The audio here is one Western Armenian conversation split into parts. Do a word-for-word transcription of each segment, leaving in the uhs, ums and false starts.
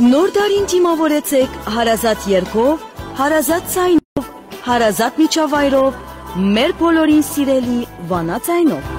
Նոր տարին դիմաւորեցէք հարազատ երգով, հարազատ ձայնով, հարազատ միջավայրով, մեր բոլորին սիրելի Վանաձայնով։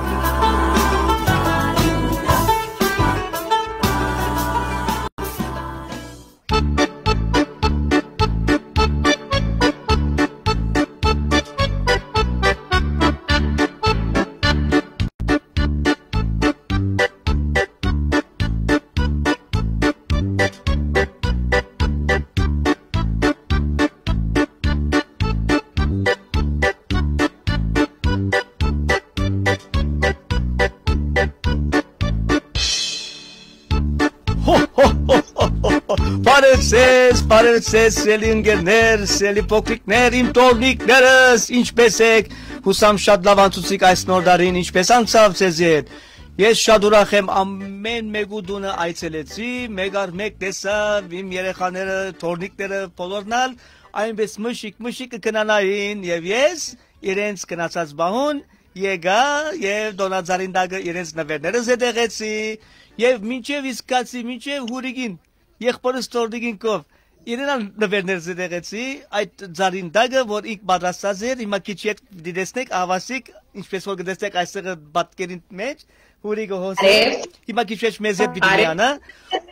Հո, հո, հո, հո, հո, հո։ Բարև ձեզ, բարև ձեզ, սիրելի ընկերներ, սիրելի փոքրիկներ, իմ թոռնիկներս, ինչպէս էք։ Յուսամ շատ լաւ անցուցիք այս նոր տարին, ինչպէս անցաւ ձեզի հետ։ Ես շատ ուրախ եմ, ամէն մէկու տունը այցելեցի, մեկ առ մեկ տեսայ իմ երեխաները, թոռնիկները, բոլորն ալ այնպէս մշիկ, մշիկ կը քնանային, եւ ես իրենց քնացած պահուն եկայ եւ տօնածառին տակը իրենց նուէրները զետեղեցի, եւ մինչեւ իսկ գացի, մինչեւ Յուրիկին, եղբորս թոռնիկին կով, իրեն ալ նուէրներ զետեղեցի, այդ ծառին տակը, որ ինք պատրաստած էր, հիմա քիչ յետ պիտի տեսնեք, ահավասիկ, ինչպես որ կը տեսնեք այստեղ պատկերին մեջ, Յուրիկը հոս է, Արեւ։ Հիմա քիչ յետ մեզ հետ պիտի Արեւ։ Միանա,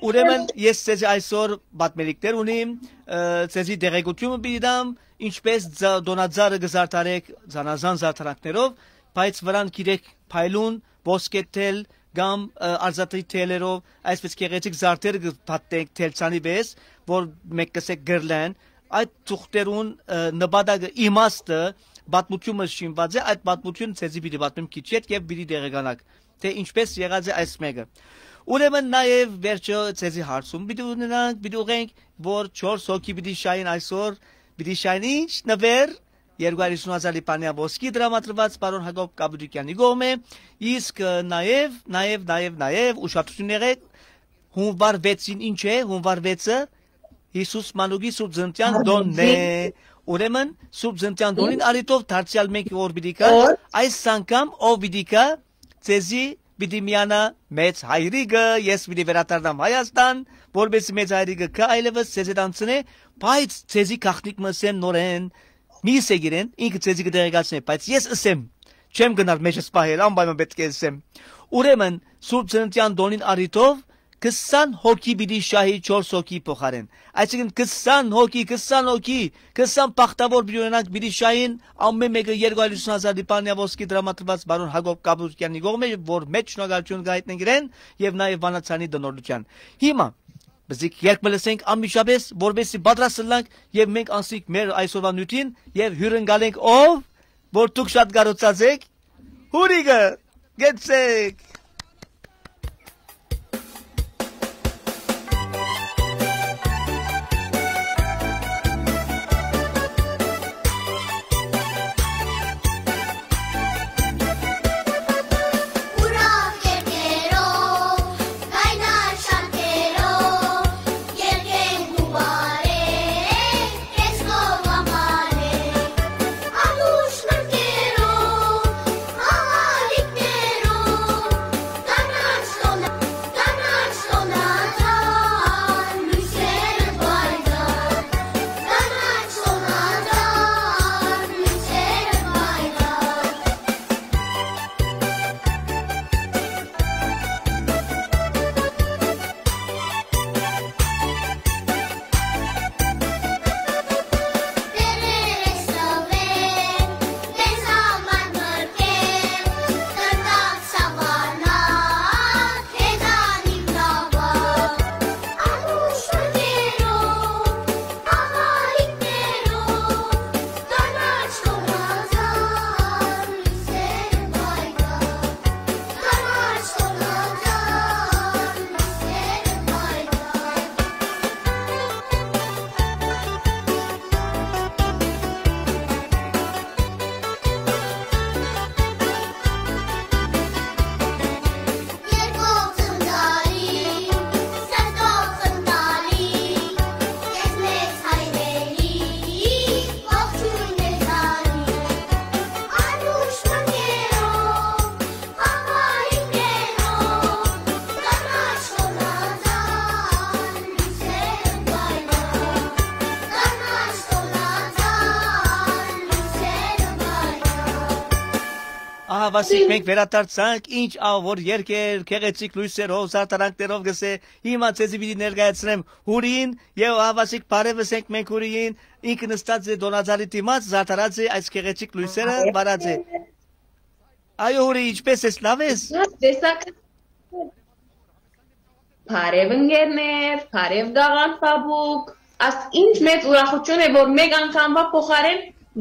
ուրեմն ես ձեզի այսօր պատմելիքներ ունիմ, ը, ձեզի տեղեկութիւնը պիտի տամ, ինչպես ձա-, տօնածառը կը զարդարեք, զանազան զարդարանքներով, բայց վրան գիրեք փայլուն, ոսկե թել կամ, ը, արծաթի թելերով, այսպես գեղեցիկ զարդեր կը փաթթեք թելցանի պես, որ մէկ կ'ըսէք կըրլեն, այդ թուղթերուն, ը, նպատակը, իմաստը, պատմութիւնը շինուած է, այդ պատմութիւնը ձեզի պիտի պատմեմ քիչ յետ եւ պիտի տեղեկանաք, թէ ինչպես եղած է այս մէկը։ Ուրեմն նաեւ վերջը ձեզի հարցում պիտի ունենանք, պիտի ուղենք, որ չորս հոգի պիտի շային այսօր, պիտի շային ինչ նվեր, երկու հարյուր հիսուն հազար լիբանեան ոսկի տրամադրուած պարոն Յակոբ Կապուտիկեանի կողմէ, իսկ, ը, նաեւ, նաեւ, նաեւ, նաեւ ուշադրութիւն եղեք, հունվար վեցին ինչ է, հունվար վեցը Յիսուս Մանուկի Սուրբ Ծննդեան տօնն է։ Ուրեմն, Սուրբ Ծննդեան տօնին առիթով դարձեալ մենք որ պիտի գա, Օր։ Այս անգամ ով պիտի գա, ձեզի պիտի միանայ մեծ հայրիկը, ես պիտի վերադառնամ Հայաստան, որպեսզի մեծ հայրիկը գայ այլեւս ձեզ հետ անցնէ, բայց ձեզի գաղտնիք մը ըսեմ նորէն, մի ըսեք իրեն, ինքը ձեզի կը տեղեկացնէ, բայց ես ըսեմ, չեմ գնար մեջս պահել, անպայման պէտք է ըսեմ։ Ուրեմն, Սուրբ Ծննդեան տօնին առիթով քսան հոգի պիտի շահի չորս հոգի փոխարէն։ Այսինքն քսան հոգի, քսան հոգի, քսան բախտաւոր պիտի ունենանք, պիտի շահին, ամէն մէկը երկու հարյուր հիսուն հազար լիբանեան ոսկի տրամադրուած պարոն Յակոբ Կապուտիկեանի կողմէ, որ մեծ շնորհակալութիւն կայտնենք իրեն եւ նաեւ Վանաձայնի տնօրինութեան։ Հիմա, բզիկ երգ մը լսենք անմիջապէս, որպեսզի պատրաստ ըլլանք եւ մենք անցնենք մեր այսօրվա նիւթին եւ հիւրընկալենք ով, որ դուք շատ կարոցած էք, Յուրիկը, գեցեք։ Ուրախ երկերով, կայնար շարքերով, երկենք ու բարենք, քեզ քո համար է։ Անուշ մտքերով, աղալիքներով, Ահավասիկ, մենք վերադարձանք, ինչ աղ որ երկեր, գեղեցիկ լոյսերով, զարդարանքներով գսե, հիմա ձեզի պիտի ներկայացնեմ հուրին, եւ ահավասիկ բարեւս ենք մենք հուրիին, ինքը նստած է Դոնազարի դիմաց, զարդարած է այս գեղեցիկ լոյսերը, վարած է։ Այո, հուրի, ինչպե՞ս ես, լավ ես։ Տեսակ Բարեւ ընկերներ, բարեւ Գաղանդ Պապուկ։ Աս ինչ մեծ ուրախութիւն է, որ մէկ անգամվա փոխարէն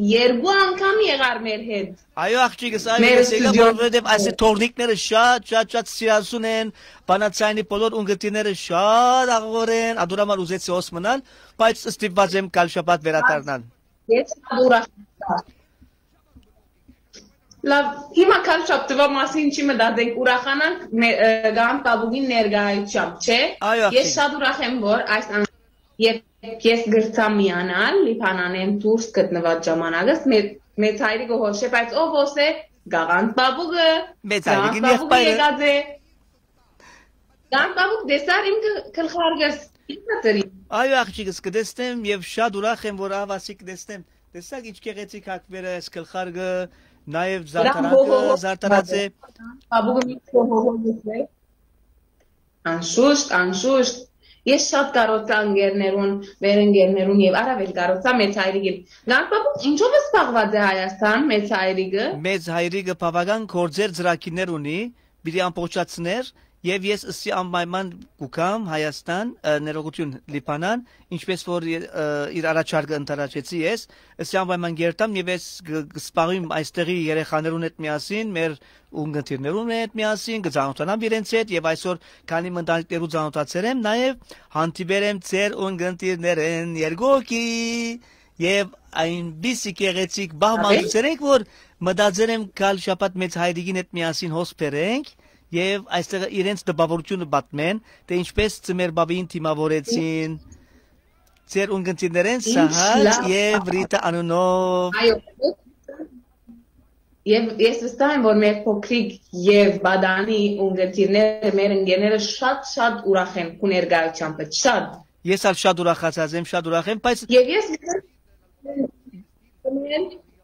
երկու անգամ եղար մեր հետ։ Այո, աղջիկս, այո, մեր ես եկայ, ստուդիոյում։ Որովհետեւ այս թորնիկները շատ, շատ, շատ սիրասուն են, բանաձայնի բոլոր ունգընտիրները շատ աղաւոր են, ադոր համար ուզեցի հոս մնալ, բայց ստիպված եմ գալ շաբաթ վերադառնալ։ Ես շատ ուրախ եմ։ Լավ, հիմա քարշապտուա մասին չի մտածենք, ուրախանանք մե-, ը, Գաղանդ Պապուկին ներկայությամբ, չէ՞։ Այո, Ես աղջիկ։ շատ ուրախ եմ, որ այս ան-, երբ ես գրցամ միանալ, Լիբանանեն դուրս գտնված ժամանակս, մե-, մեծ հայրիկը հոշ է, բայց ով հոս է, Գաղանդ Պապուկը, Մեծ Գաղանդ հայրիկին Պապուկը եղբայրը։ եկած է։ Գաղանդ Պապուկ, տեսար իմ գ-, գլխարկս, ինչ կտրի։ Այո, աղջիկս, կտեսնեմ եւ շատ ուրախ եմ, որ ահավասիկ կտեսնեմ։ Տեսակ ինչ գեղեցիկ հագուեր է այս գլխարկը, նաեւ Դրան զարդարանքը հողը զարդարած է։ Պապուկը միշտ հողը է։ Անշուշտ, անշուշտ։ Ես շատ կարոցա ընկերներուն, մեր ընկերներուն եւ առավել կարոցա մեծ հայրիկին։ Գաղանդ Պապուկ, ինչով զբաղված է Հայաստան, մեծ հայրիկը։ Մեծ հայրիկը բաւական գործեր ծրագիրներ ունի, պիտի ամբողջացներ, եւ ես ըսի անպայման կու գամ Հայաստան, ը, ներողություն, Լիբանան, ինչպես որ, ը, իր առաջարկը ընդառաջեցի ես, ըսի անպայման կերտամ եւ ես կ-, կսպաղեմ այստեղի երեխաներուն հետ միասին, մեր ունգընտիրներուն հետ միասին, կծանոթանամ իրենց հետ եւ այսօր քանի մնդանիկներու ծանոթացեր եմ, նաեւ հանդիպեր եմ ձեր ունգընտիրներեն երկուքի եւ այնպիսի գեղեցիկ բահ Աբե։ մատուցեր ենք, որ մտածեր եմ գալ շաբաթ մեծ հայրիկին հետ միասին հոս բերենք եւ այստեղ իրենց տպավորությունը պատմեն, թե ինչպես ծմեր բաբին դիմավորեցին ձեր ունգընտիրներեն Ինչ Սահակ լավ։ եւ Ռիտա անունով։ Այո, եւ ես վստահ եմ, որ մեր փոքրիկ եւ Բադանի ունգընտիրները, մեր ընկերները շատ, շատ ուրախ են քու ներկայությամբ, շատ։ Ես ալ շատ ուրախացած եմ, շատ ուրախ եմ, բայց Եւ ես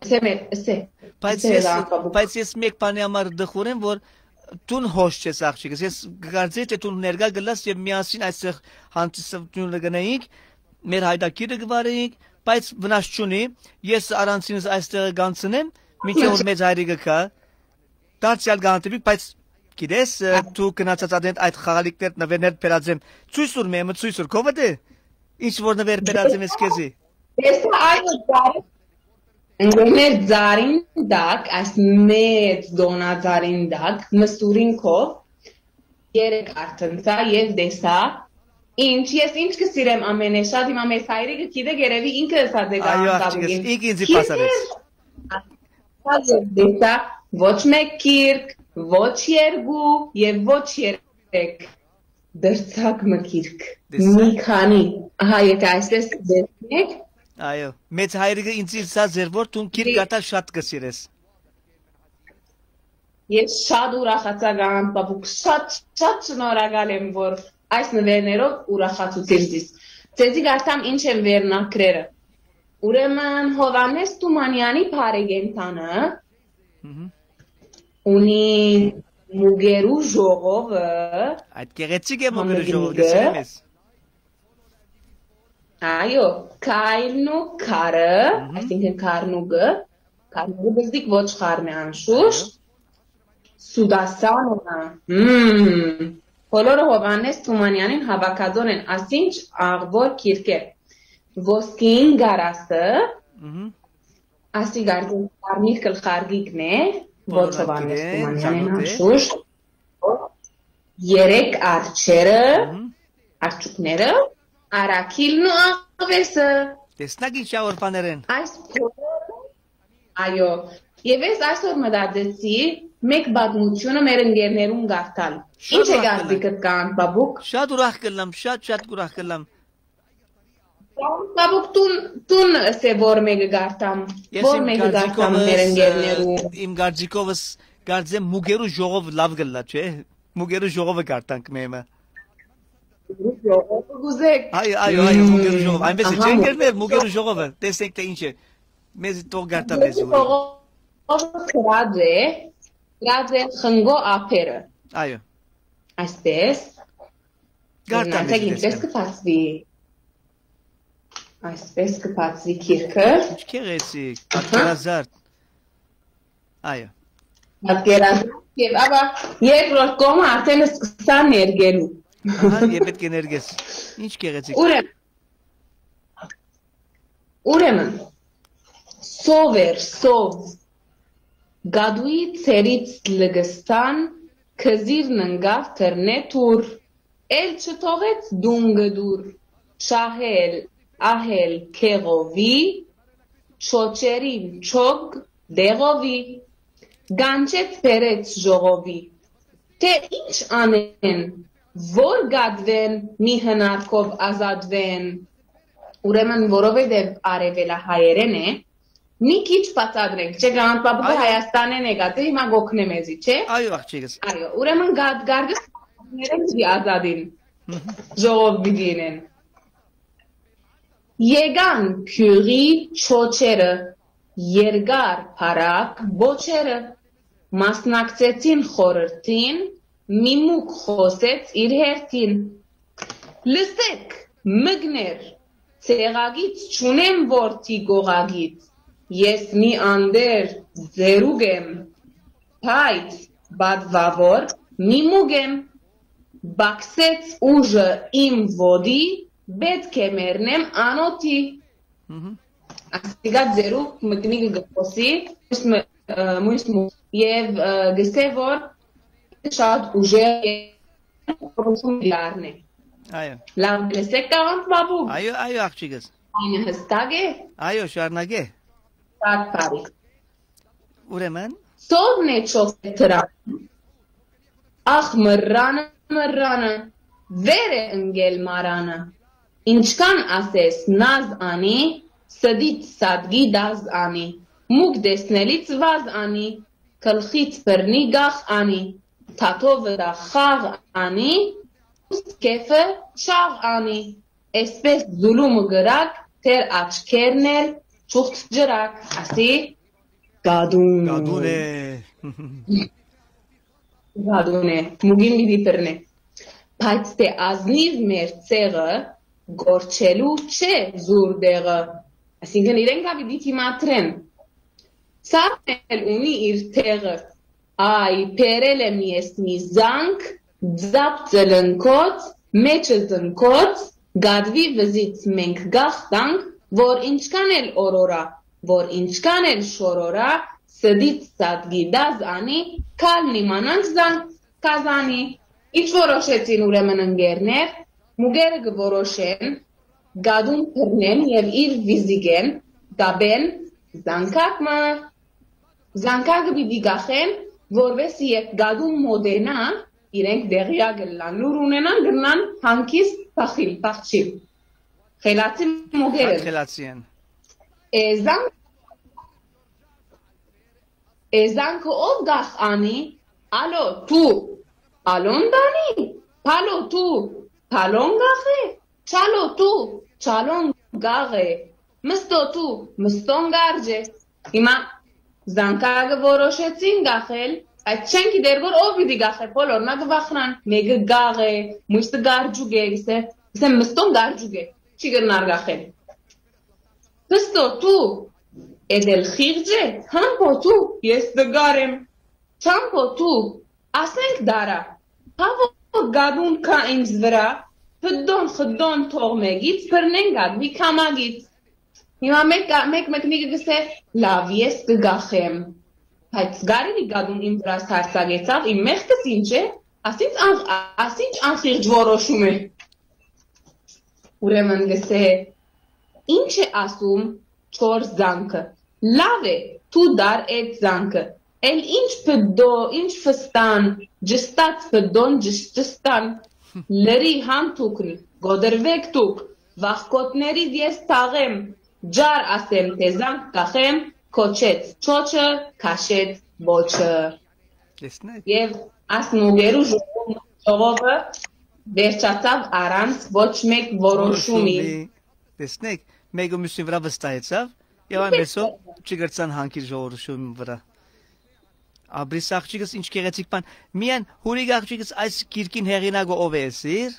Սեմեր, սե, բայց սե ես, լավ, բաբուկ։ Բայց ես մեկ բանի համար դխուր եմ, որ դուն հոս չես, աղջիկս, ես կկարծեի, թե դուն ներկայ գլաս եւ միասին այստեղ հանդիսությունը գնայինք, մեր հայտագիրը կվարեինք, բայց վնաս չունի, ես առանցինս այստեղ կանցնեմ, մինչեւ որ մեծ հայրիկը գայ, դարձեալ կհանդիպինք, բայց գիտես, ը, դու գնացած ատենտ այդ խաղալիքներ նվերներ բերած եմ, ցույց տուր մեմը, ցույց տուր, քովը դե, ինչ որ նվեր բերած եմ ես քեզի։ Ես այո, ծառի-, մեր ծառին տակ, այս մեծ դոնածառին տակ, մսուրին քով, երեք արդեն սա, ես տեսա, ինչ, ես ինչ կսիրեմ ամենեշատ, հիմա մեծ հայրիկը գիտե գերեւի ինքը ըսած է Այո, Գաղանդ աղջիկս, Պապուկին։ ինք ինձի Գիտե, պասարեց։ Ես տեսա ոչ մեկ գիրք, ոչ երկու եւ ոչ երեք, դրցակ մը գիրք, Տեսա՞։ մի քանի, ահա, եթե այսպես տեսնեք, Այո, մեծ հայրիկը ինձ ըսած էր, որ դուն գիրք Դե- կարդալ շատ կսիրես։ Ես շատ ուրախացա, Գաղանդ Պապուկ, շատ, շատ շնորհակալ եմ, որ այս նվերներով ուրախացուցիր զիս։ Ձեզի կարդամ ինչ են վերնագրերը։ Ուրեմն Հովհաննես Թումանյանի բարեկենդանը Մհմ։ ունի մուկերու ժողովը, Այդ գեղեցիկ է մուկերու ժողովը, համագնիկը, գցել ես։ Այո, քայլն ու քարը, Մհմ։ այսինքն քարնուկը, քարնուկը բզդիկ ոչ խառն է անշուշտ, Այո։ Սուդասանովը, մմ, բոլորը Հովհաննես Թումանյանին հավաքածոր են, ասինչ աղբոր գիրքեր, ոսկին գարասը, Մհմ։ Ասի գարգին կարմիր գլխարկիկն է, ոչ Բոլորը Հովհաննես գիտեն, Թումանյանին ծանոթ է։ անշուշտ, երեք արջերը, Մհմ։ արջուկները, արագիլն ու աղվեսը։ Տեսնակ ինչ աղորպաներ են։ Այս բոլորը, այո, եւ ես այսօր մտածեցի մեկ պատմությունը մեր ընկերներուն կարդալ։ Շատ Ինչ է ուրախ կլամ։ գարդիկդ կան, բաբուկ։ Շատ ուրախ կլամ, շատ, շատ ուրախ կլամ։ Բաբուկ, տուն, տուն, սե որ մեկը գարտամ, Ես որ իմ մեկը գարտամ կարծիքովս, մեր ընկերներու։ ը, իմ կարծիքովս կարծեմ մուկերու ժողով լավ գլլա, չէ՞։ Մուկերու ժողովը գարտանք մեմը։ Ժողովը գուզեք։ Այո, այո, այո, մուկերու ժողով, այնպես է, Ահա, չէ՞, մուկերու ընկերներ, մուկերու ժողովը, տեսեք թե ինչ է, մեզ թող գարտա մեզ Մուկերու ուղղի։ ժողովը գրած է, գրած է խնկո ափերը։ Այո։ Այսպես։ Կարդամ Գնացեք, ինչպես կը բացուի։ Այսպես կը բացուի գիրքը։ Ինչ գեղեցիկ, պատկերազարդ։ Այո։ Պատկերազարդ, եւ ապա երկրորդ կողմը արդեն սկսան ներկելու։ Ահա, եւ պետք է ներկես։ Ինչ գեղեցիկ։ Ուրեմն, ուրեմն, սով էր, սով, գադուի ցերից լգստան, քզիրն ընկաւ թռնե թուր, էլ չթողեց դուն գդուր, չահել, ահել քեղովի, չոչերին չոգ դեղովի, գանչեց բերեց ժողովի, թէ ինչ անեն, որ գատվեն, մի հնարքով ազատվեն։ Ուրեմն, որովհետեւ արեւելահայերեն է, մի քիչ բացատրենք, չէ՞, գանտպապուկը Հայաստանէն եկած է, հիմա գօգնե մեզի, չէ՞։ Այո, աղջիկս։ Այո, ուրեմն գատ-, գարգս պիտի ազատին, ժողով պիտի ինեն։ Եկան գիւղի չոչերը, երկար փառակ բոչերը, մասնակցեցին խորհրդին, մի մուկ խօսեց իր հերթին. «Լսէք, մկներ, ցեղագից չունեմ որդի գողագից, ես մի անդեր ձերուկ եմ, բայց պատվաւոր մի մուկ եմ, բաքսեց ուժը իմ ոտի, պէտք է մեռնեմ անօթի»։ Ասիկա ձերուկ մկնիկը կը խօսի, մյուս մը-, ը, մյուս մը-, եւ, ը, գսե որ շատ ուժեղ է, որոշում լարն է։ Այո։ Լավ լսեք, կաղանդ բաբուկ։ Այո, այո, աղջիկս։ Այն հստակ է։ Այո, շարունակե։ Շատ բարի։ Ուրեմն։ Սովն է չոխ է թրան, ախ, մռանը, մռանը, վեր է ընկել մարանը։ Ինչքան ասես նազ անի, ստից սատկի դազ անի, մուկ տեսնելից վազ անի, գլխից բռնի գախ անի, թաթովը դա խաղ անի, քեֆը չաղ անի, էսպես զուլումը գրակ, թեր աչքերն էլ չուղդ ջրակ, ասի կադուն։ Կադուն է։ Կադուն է, մուգին պիտի բռնե։ Բայց թէ ազնիվ մեր ցեղը, գորչելու չէ զուր դեղը, այսինքն իրենք ա պիտի դիմադրեն։ Սարն էլ ունի իր տեղը, այ, բերել եմ ես մի զանգ, ձապ ծլնքոց, մեջը զնքոց, գադվի վզից մենք գախ տանք, որ ինչքան էլ օրորա, որ ինչքան էլ շորորա, ստից սատկի դազ անի, քալ նիմանանք զանգ կազանի։ Ինչ որոշեցին ուրեմն ընկերներ, մուկերը կը որոշեն, գադուն բռնեն եւ իր վիզիգեն կապեն զանգակ մը։ Զանգակը պիտի գախեն, որպեսզի երբ գադուն մոտենայ, իրենք դեղյակ ըլլան, լուր ունենան, գնան հանգիստ փախիլ, փախչիլ։ Խելացի մուկեր են։ Շատ խելացի են։ Է, զանգ-, է, զանգը ով գախ անի, ալո, դու, ալոն դանի, փալո, դու, փալոն գախ է, չալո, դու, չալոն գաղ է, մստո, դու, մստոն գարջ է։ Հիմա զանգակը որոշեցին գախել, բայց չեն գիտեր, որ ով պիտի գախէ, բոլորն ա կը վախնան, մէկը գաղ է, մյուսը գարջուկ է, գսե, գսե, մստոն գարջուկ է, չի կրնար գախել։ Մստո, դու, էդ էլ խիղճ է, համբո, դու, ես տգար եմ, չամբո, դու, ասենք դարա, բա որ գադուն կայ ինձ վրայ, պտտոն խտտոն թող մեկից բռնեն գադվի քամագից։ Հիմա մեկ, մեկ մեկնիկը գսե, լավ, ես կը գախեմ, բայց գարի գադուն իմ վրաս հարցակեցաւ, իմ մեղքս ինչ է, ասինչ ան-, ասինչ անխիղճ որոշում է։ Ուրեմն գսե, ինչ է ասում չոր զանգը, լավ է, դու դար էդ զանգը, էլ ինչ պտտո, ինչ ֆստան, ջստած պտտոն ջշ-, ջստան, լրի հանդուկն, գոդրվեք դուք, վախկոտներիդ ես թաղեմ, ջար ասեմ, թէ զանգ կախեմ, քոչեց չոչը, քաշեց բոչը։ Տեսնեք։ Եվ աս մուկերու ժողով-, ժողովը վերջացաւ առանց ոչ մեկ որոշումի։ Որոշումի։ Տեսնեք, մեկը մյուսի վրա վստահեցաւ, եւ այն Տեսնեք։ Մեսով չի կրցան հանգի ժողովրդի վրա։ Ապրիս աղջիկս ինչ գեղեցիկ բան։ Միայն հուրիկ աղջիկս այս գիրքին հեղինակը ով է, սիր։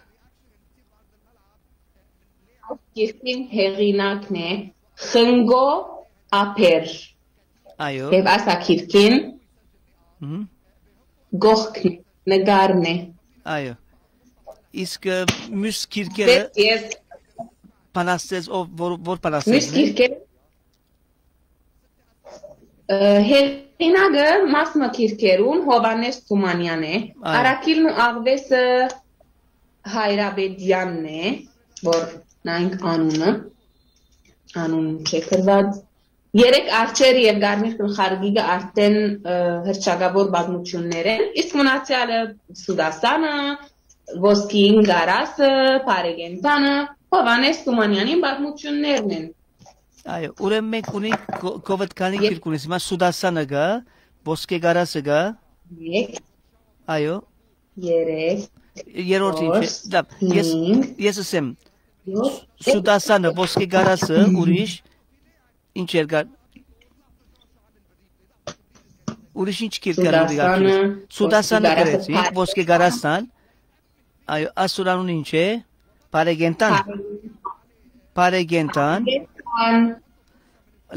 Այս գիրքին հեղինակն է Խնկո Ափեր։ Այո։ Եւ այս գիրքին Մհմ, կողքն է, նկարն է։ Այո։ Իսկ, ը, մյուս գիրքերը Ես, ես բանաստեղծ, ով, որ, որ մյուս բանաստեղծն է։ Գիրքերը, ը, հեղինակը մաս մը գիրքերուն Հովհաննէս Թումանեան է, Այո։ Առաքիլն ու աղվեսը Հայրապետեանն է, որ նայենք անունը, անուն չէ գրված։ Երեք արջեր եւ կարմիր գլխարկիկը արդեն, ը, հռչակաւոր պատմություններ են, իսկ մնացեալը Սուդասանը, Ոսկին կարասը, Բարեկենդանը, Հովհաննէս Թումանեանին պատմություններն են։ Այո, ուրեմն մենք ունենք կո-, կովդ քանի Ե- գիրք ունես, հիմա Սուդասանը կա, Ոսկե կարասը կա, Երեք, այո, երեք, երրորդ ինչ է, չորս, լավ, ես, հինգ, ես ասեմ, յոթ, Սուդասանը, Ոսկե կարասը, ուրիշ, ինչ էր կա, ուրիշ ինչ գիրք կար, ուրիշ աղջիկս։ Սուդասանը, Սուդասանը Ոսկե կարասը, գրեցի, Բարեկենդան։ Ոսկե կարասան, այո, ասուր անունը ինչ է, Բարեկենդան, Բարեկենդան, Բարեկենդան։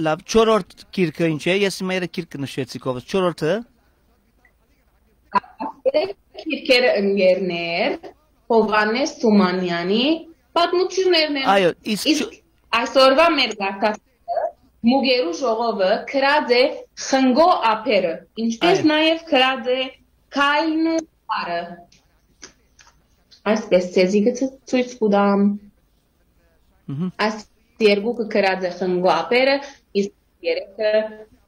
Լավ, չորրորդ գիրքը ինչ է, ես հիմա երեք գիրք կը նշեցի կովս, չորրորդը, Երեք գիրքերը ընկերներ, Հովհաննէս Թումանեանի պատմություններն են։ Այո, իսկ Իսկ չո- այսօրվա մեր գաղթակցը Մուկերու ժողովը գրած է Խնկո Ափերը, ինչպես Այո։ Նաև գրած է Քայլն ու Պարը։ Այսպես ձեզի կը ցո-, ցոյց կու տամ։ Մհմ։ Այս երկուքը գրած է Խնկո Ափերը, իսկ երեքը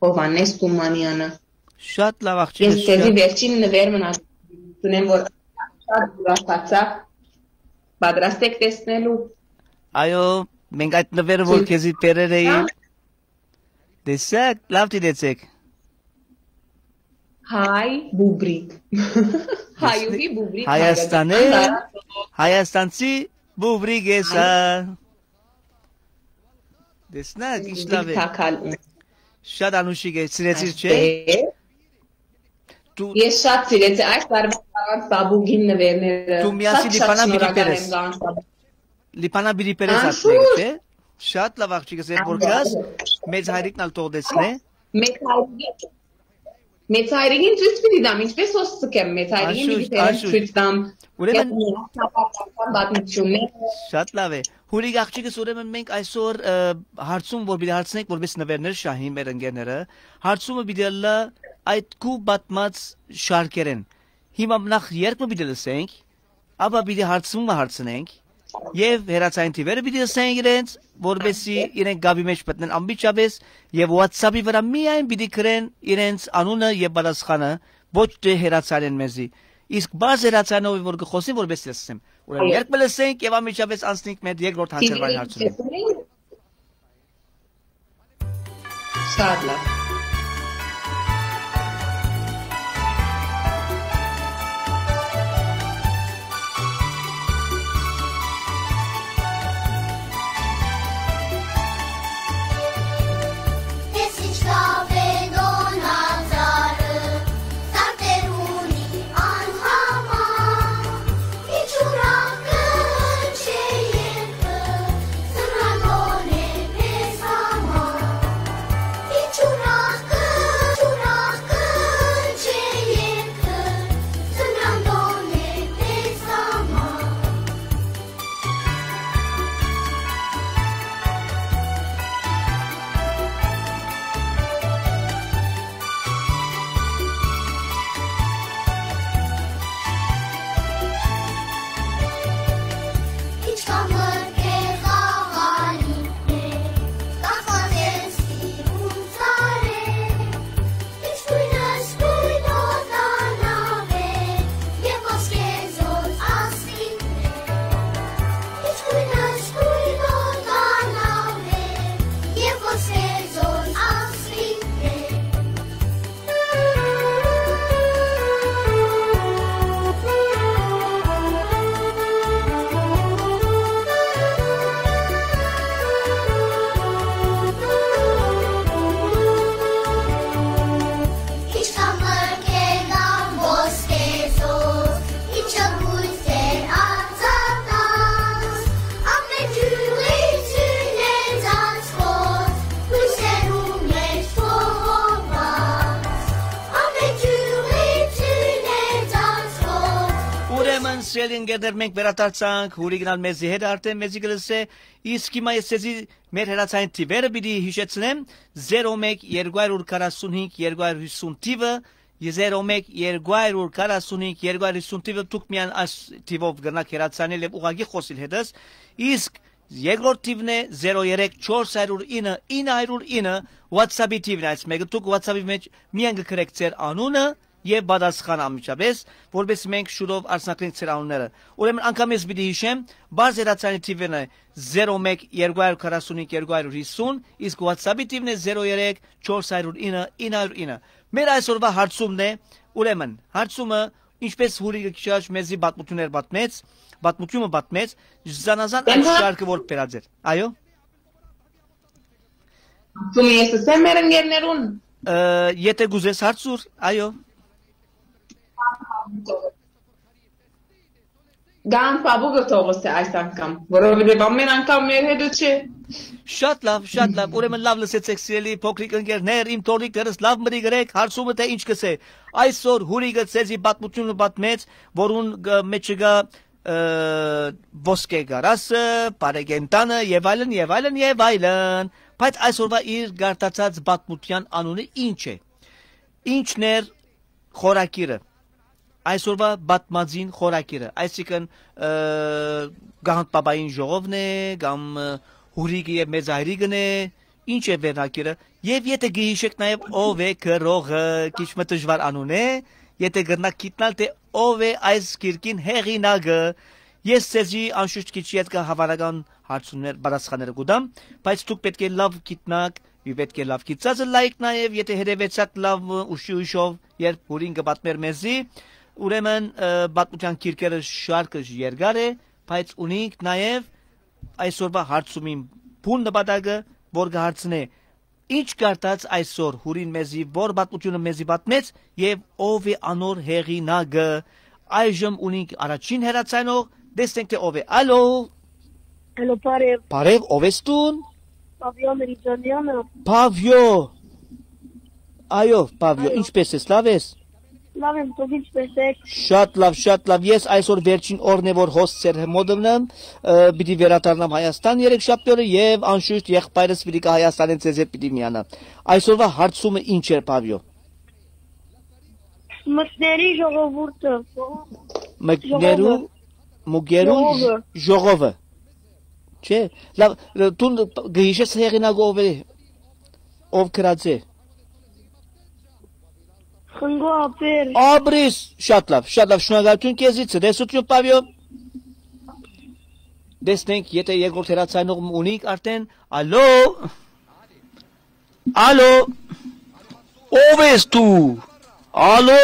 Հովհաննէս Թումանեանը։ Շատ լավ, աղջիկս, Ես քեզի շատ վերջին նվեր մնաց, ունեմ, որ շատ ուրախացա, պատրաստ եք տեսնելու։ Այո, մենք այդ նվերը, որ Ցույց քեզի բերեր էի, տամ։ Տեսա՞ք, լավ դիտեցեք։ Հայ բուբրիկ։ Հայուհի բուբրիկ Հայաստանի, Հայաստան։ Հայաստանցի բուբրիկ է սա։ Հայ Տեսնա՞ք, ինչ բուբրիկ լավ է։ Թակալ ուն։ Շատ անուշիկ է, սիրեցիր, չէ՞։ Այստեղ։ Դու Ես շատ սիրեցի այս տարվա Գանձ Պապուկին նվերները։ Դու միասին Շատ, շատ Լիբանան պիտի շնորհակալ բերես։ Եմ Գանձ Պապուկ։ Լիբանան պիտի բերես Անշուշտ։ Ատները, չէ՞։ Շատ լավ, աղջիկս, երբ որ Անշուշտ։ Գաս, մեծ հայրիկն ալ թող տեսնէ։ Մեծ հայրիկի-, մեծ հայրիկին ցույց պիտի տամ, ինչպես հոս սկեմ, մեծ հայրիկին պիտի Անշուշտ, բերեմ անշուշտ։ Ցույց տամ։ Ուրեմն Ես միասնապատասխան պատմությունները։ Շատ լավ է։ Հուրիկ աղջիկս, ուրեմն մենք այսօր, ը, հարցում, որ պիտի հարցնենք, որպես նվերներ շահին մեր ընկերները, հարցումը պիտի ըլլա այդ քու պատմած շարքերեն։ Հիմա նախ երգ մը պիտի լսենք, ապա պիտի հարցումը հարցնենք, եւ հեռացային թիվերը պիտի լսենք իրենց, որպեսզի իրենք գաբի մեջ մտնեն անմիջապես, եւ WhatsApp-ի վրա միայն պիտի գրեն իրենց անունը եւ պատասխանը, ոչ թե հեռացանեն մեզի։ Իսկ բաց հեռացանով որ կխոսին, որպես լսեմ։ Ուրեմն Այո։ Երբ մը լսենք եւ անմիջապես անցնենք մեր երկրորդ հանգրվային հարցումին։ Շատ լավ։ Ես ինչ լավ է դոնա ծառը, Սարտերունի անհամար, իջուրա կը հնչէ երգը, Սմրագոն է մեզ համար, իջուրա Սիրելի ընկերներ, մենք վերադարձանք, Հուրի գնալ մեզի հետ արդեն մեզի կը լսէ, իսկ հիմա ես ձեզի մեր հեռացային թիվերը պիտի հիշեցնեմ, զերո մեկ երկու հարյուր քառասունհինգ երկու հարյուր հիսուն թիվը, զերո մեկ երկու հարյուր քառասունհինգ երկու հարյուր հիսուն թիվը, դուք միայն այս թիվով կրնաք հեռացանել եւ ուղղակի խօսիլ հետս, իսկ երկրորդ թիվն է զերո երեք չորս հարյուր ինը ինը հարյուր ինը, WhatsApp-ի թիվն է այս մեկը, դուք WhatsApp-ի մեջ միայն կը գրեք ձեր անունը, եւ պատասխան անմիջապէս, որպէս մենք շուտով արձանագրենք ձեր անունները։ Ուրեմն անգամ ես պիտի հիշեմ, բարձ հեռացանի թիվն է զերո մեկ երկու հարյուր քառասունհինգ երկու հարյուր հիսուն, իսկ WhatsApp-ի թիվն է զերո երեք չորս հարյուր ինը ինը հարյուր ինը։ Մեր այսօրվա հարցումն է, ուրեմն, հարցումը, ինչպես Հուրիկը քիչ առաջ մեզի պատմություններ պատմեց, պատմությունը պատմեց, զանազան այդ Ահա։ շարքը որ բերած էր։ Այո։ Դու ես ասեմ մեր ընկերներուն։ Ը, եթե կուզես հարցուր, այո։ Գան Պապուկը թողս է այս անգամ, որովհետև ամեն անգամ մեր հետը չէ։ Շատ լավ, շատ լավ։ Ուրեմն լավ լսեցեք, սիրելի փոքրիկ ընկերներ, իմ թորիկներս լավ մրի գրեք, հարցումը թե ինչ կսե։ Այսօր Հուրիկը ձեզի պատմությունը պատմեց, որուն գ-, մեջ կա, ը, ոսկե գարասը, բարեկենդանը և այլն, և այլն, և այլն։ Բայց այսօրվա իր գարտացած պատմության անունը ինչ է։ Ինչն էր խորագիրը, այսօրվա պատմածին խորագիրը, այսինքն, ը, Գահանդ Պապային ժողովն է, կամ, ը, Հուրիկը և Մեծ Հայրիկն է, ինչ է վերնագիրը, և եթե գիհիշեք նաև ով է գրողը, քիչ մը դժվար անուն է, եթե կրնաք գիտնալ, թե ով է այս գիրքին հեղինակը, ես ձեզի անշուշտ քիչ ետքը հավանական հարցումներ, պատասխանները կուտամ, բայց դուք պէտք է լավ գիտնաք, Ու պէտք է լաւ գիտցածը լայք նաեւ, եթէ հետեւեցաք լաւ, ը, ուշի ուշով, երբ Հուրին կը պատմէր մեզի, ուրեմն, ը, պատմութեան գիրքերը շարքը երկար է, բայց ունինք նաեւ այսօրվա հարցումին բուն նպատակը, որ կը հարցնէ. «Ի՞նչ կարդաց այսօր Հուրին մեզի, որ պատմութիւնը մեզի պատմեց եւ ով է անոր հեղինակը»։ Այժմ ունինք առաջին հեռացանող, տեսնենք թէ ով է։ Ալո։ Ալո, բարեւ։ Բարեւ, ով ես դուն։ Պավիոն Ռիջանյանը։ Պավիո։ Այո, Պավիո, Այո։ ինչպե՞ս ես, լավ ես։ Լավ եմ, դուք ինչպե՞ս եք։ Շատ լավ, շատ լավ։ Ես այսօր վերջին օրն է, որ հոս ձեր մոտն եմ, ը, պիտի վերադառնամ Հայաստան երեքշաբթի օրը եւ անշուշտ եղբայրս պիտի գա Հայաստանէն, ձեզ հետ պիտի միանա։ Այսօրվա հարցումը ի՞նչ էր, Պավիո։ Մկների ժողովուրդը։ Մկներու, Ժողովը։ Մուկերու Ժողովը։ ժ-, ժողովը։ Չէ, լավ, դուն գ-, գ-, հիշես հեղինակը ով է, ով գրած է։ Խնկո Աբեր։ Աբրիս, շատ լավ, շատ լավ, շնորհակալություն քեզի, ցտեսություն, Պավիո։ Տեսնենք, եթե երկրորդ հեռացանող ունիք արդեն, ալո։ Ալո, ո՞վ ես դու։ Ալո,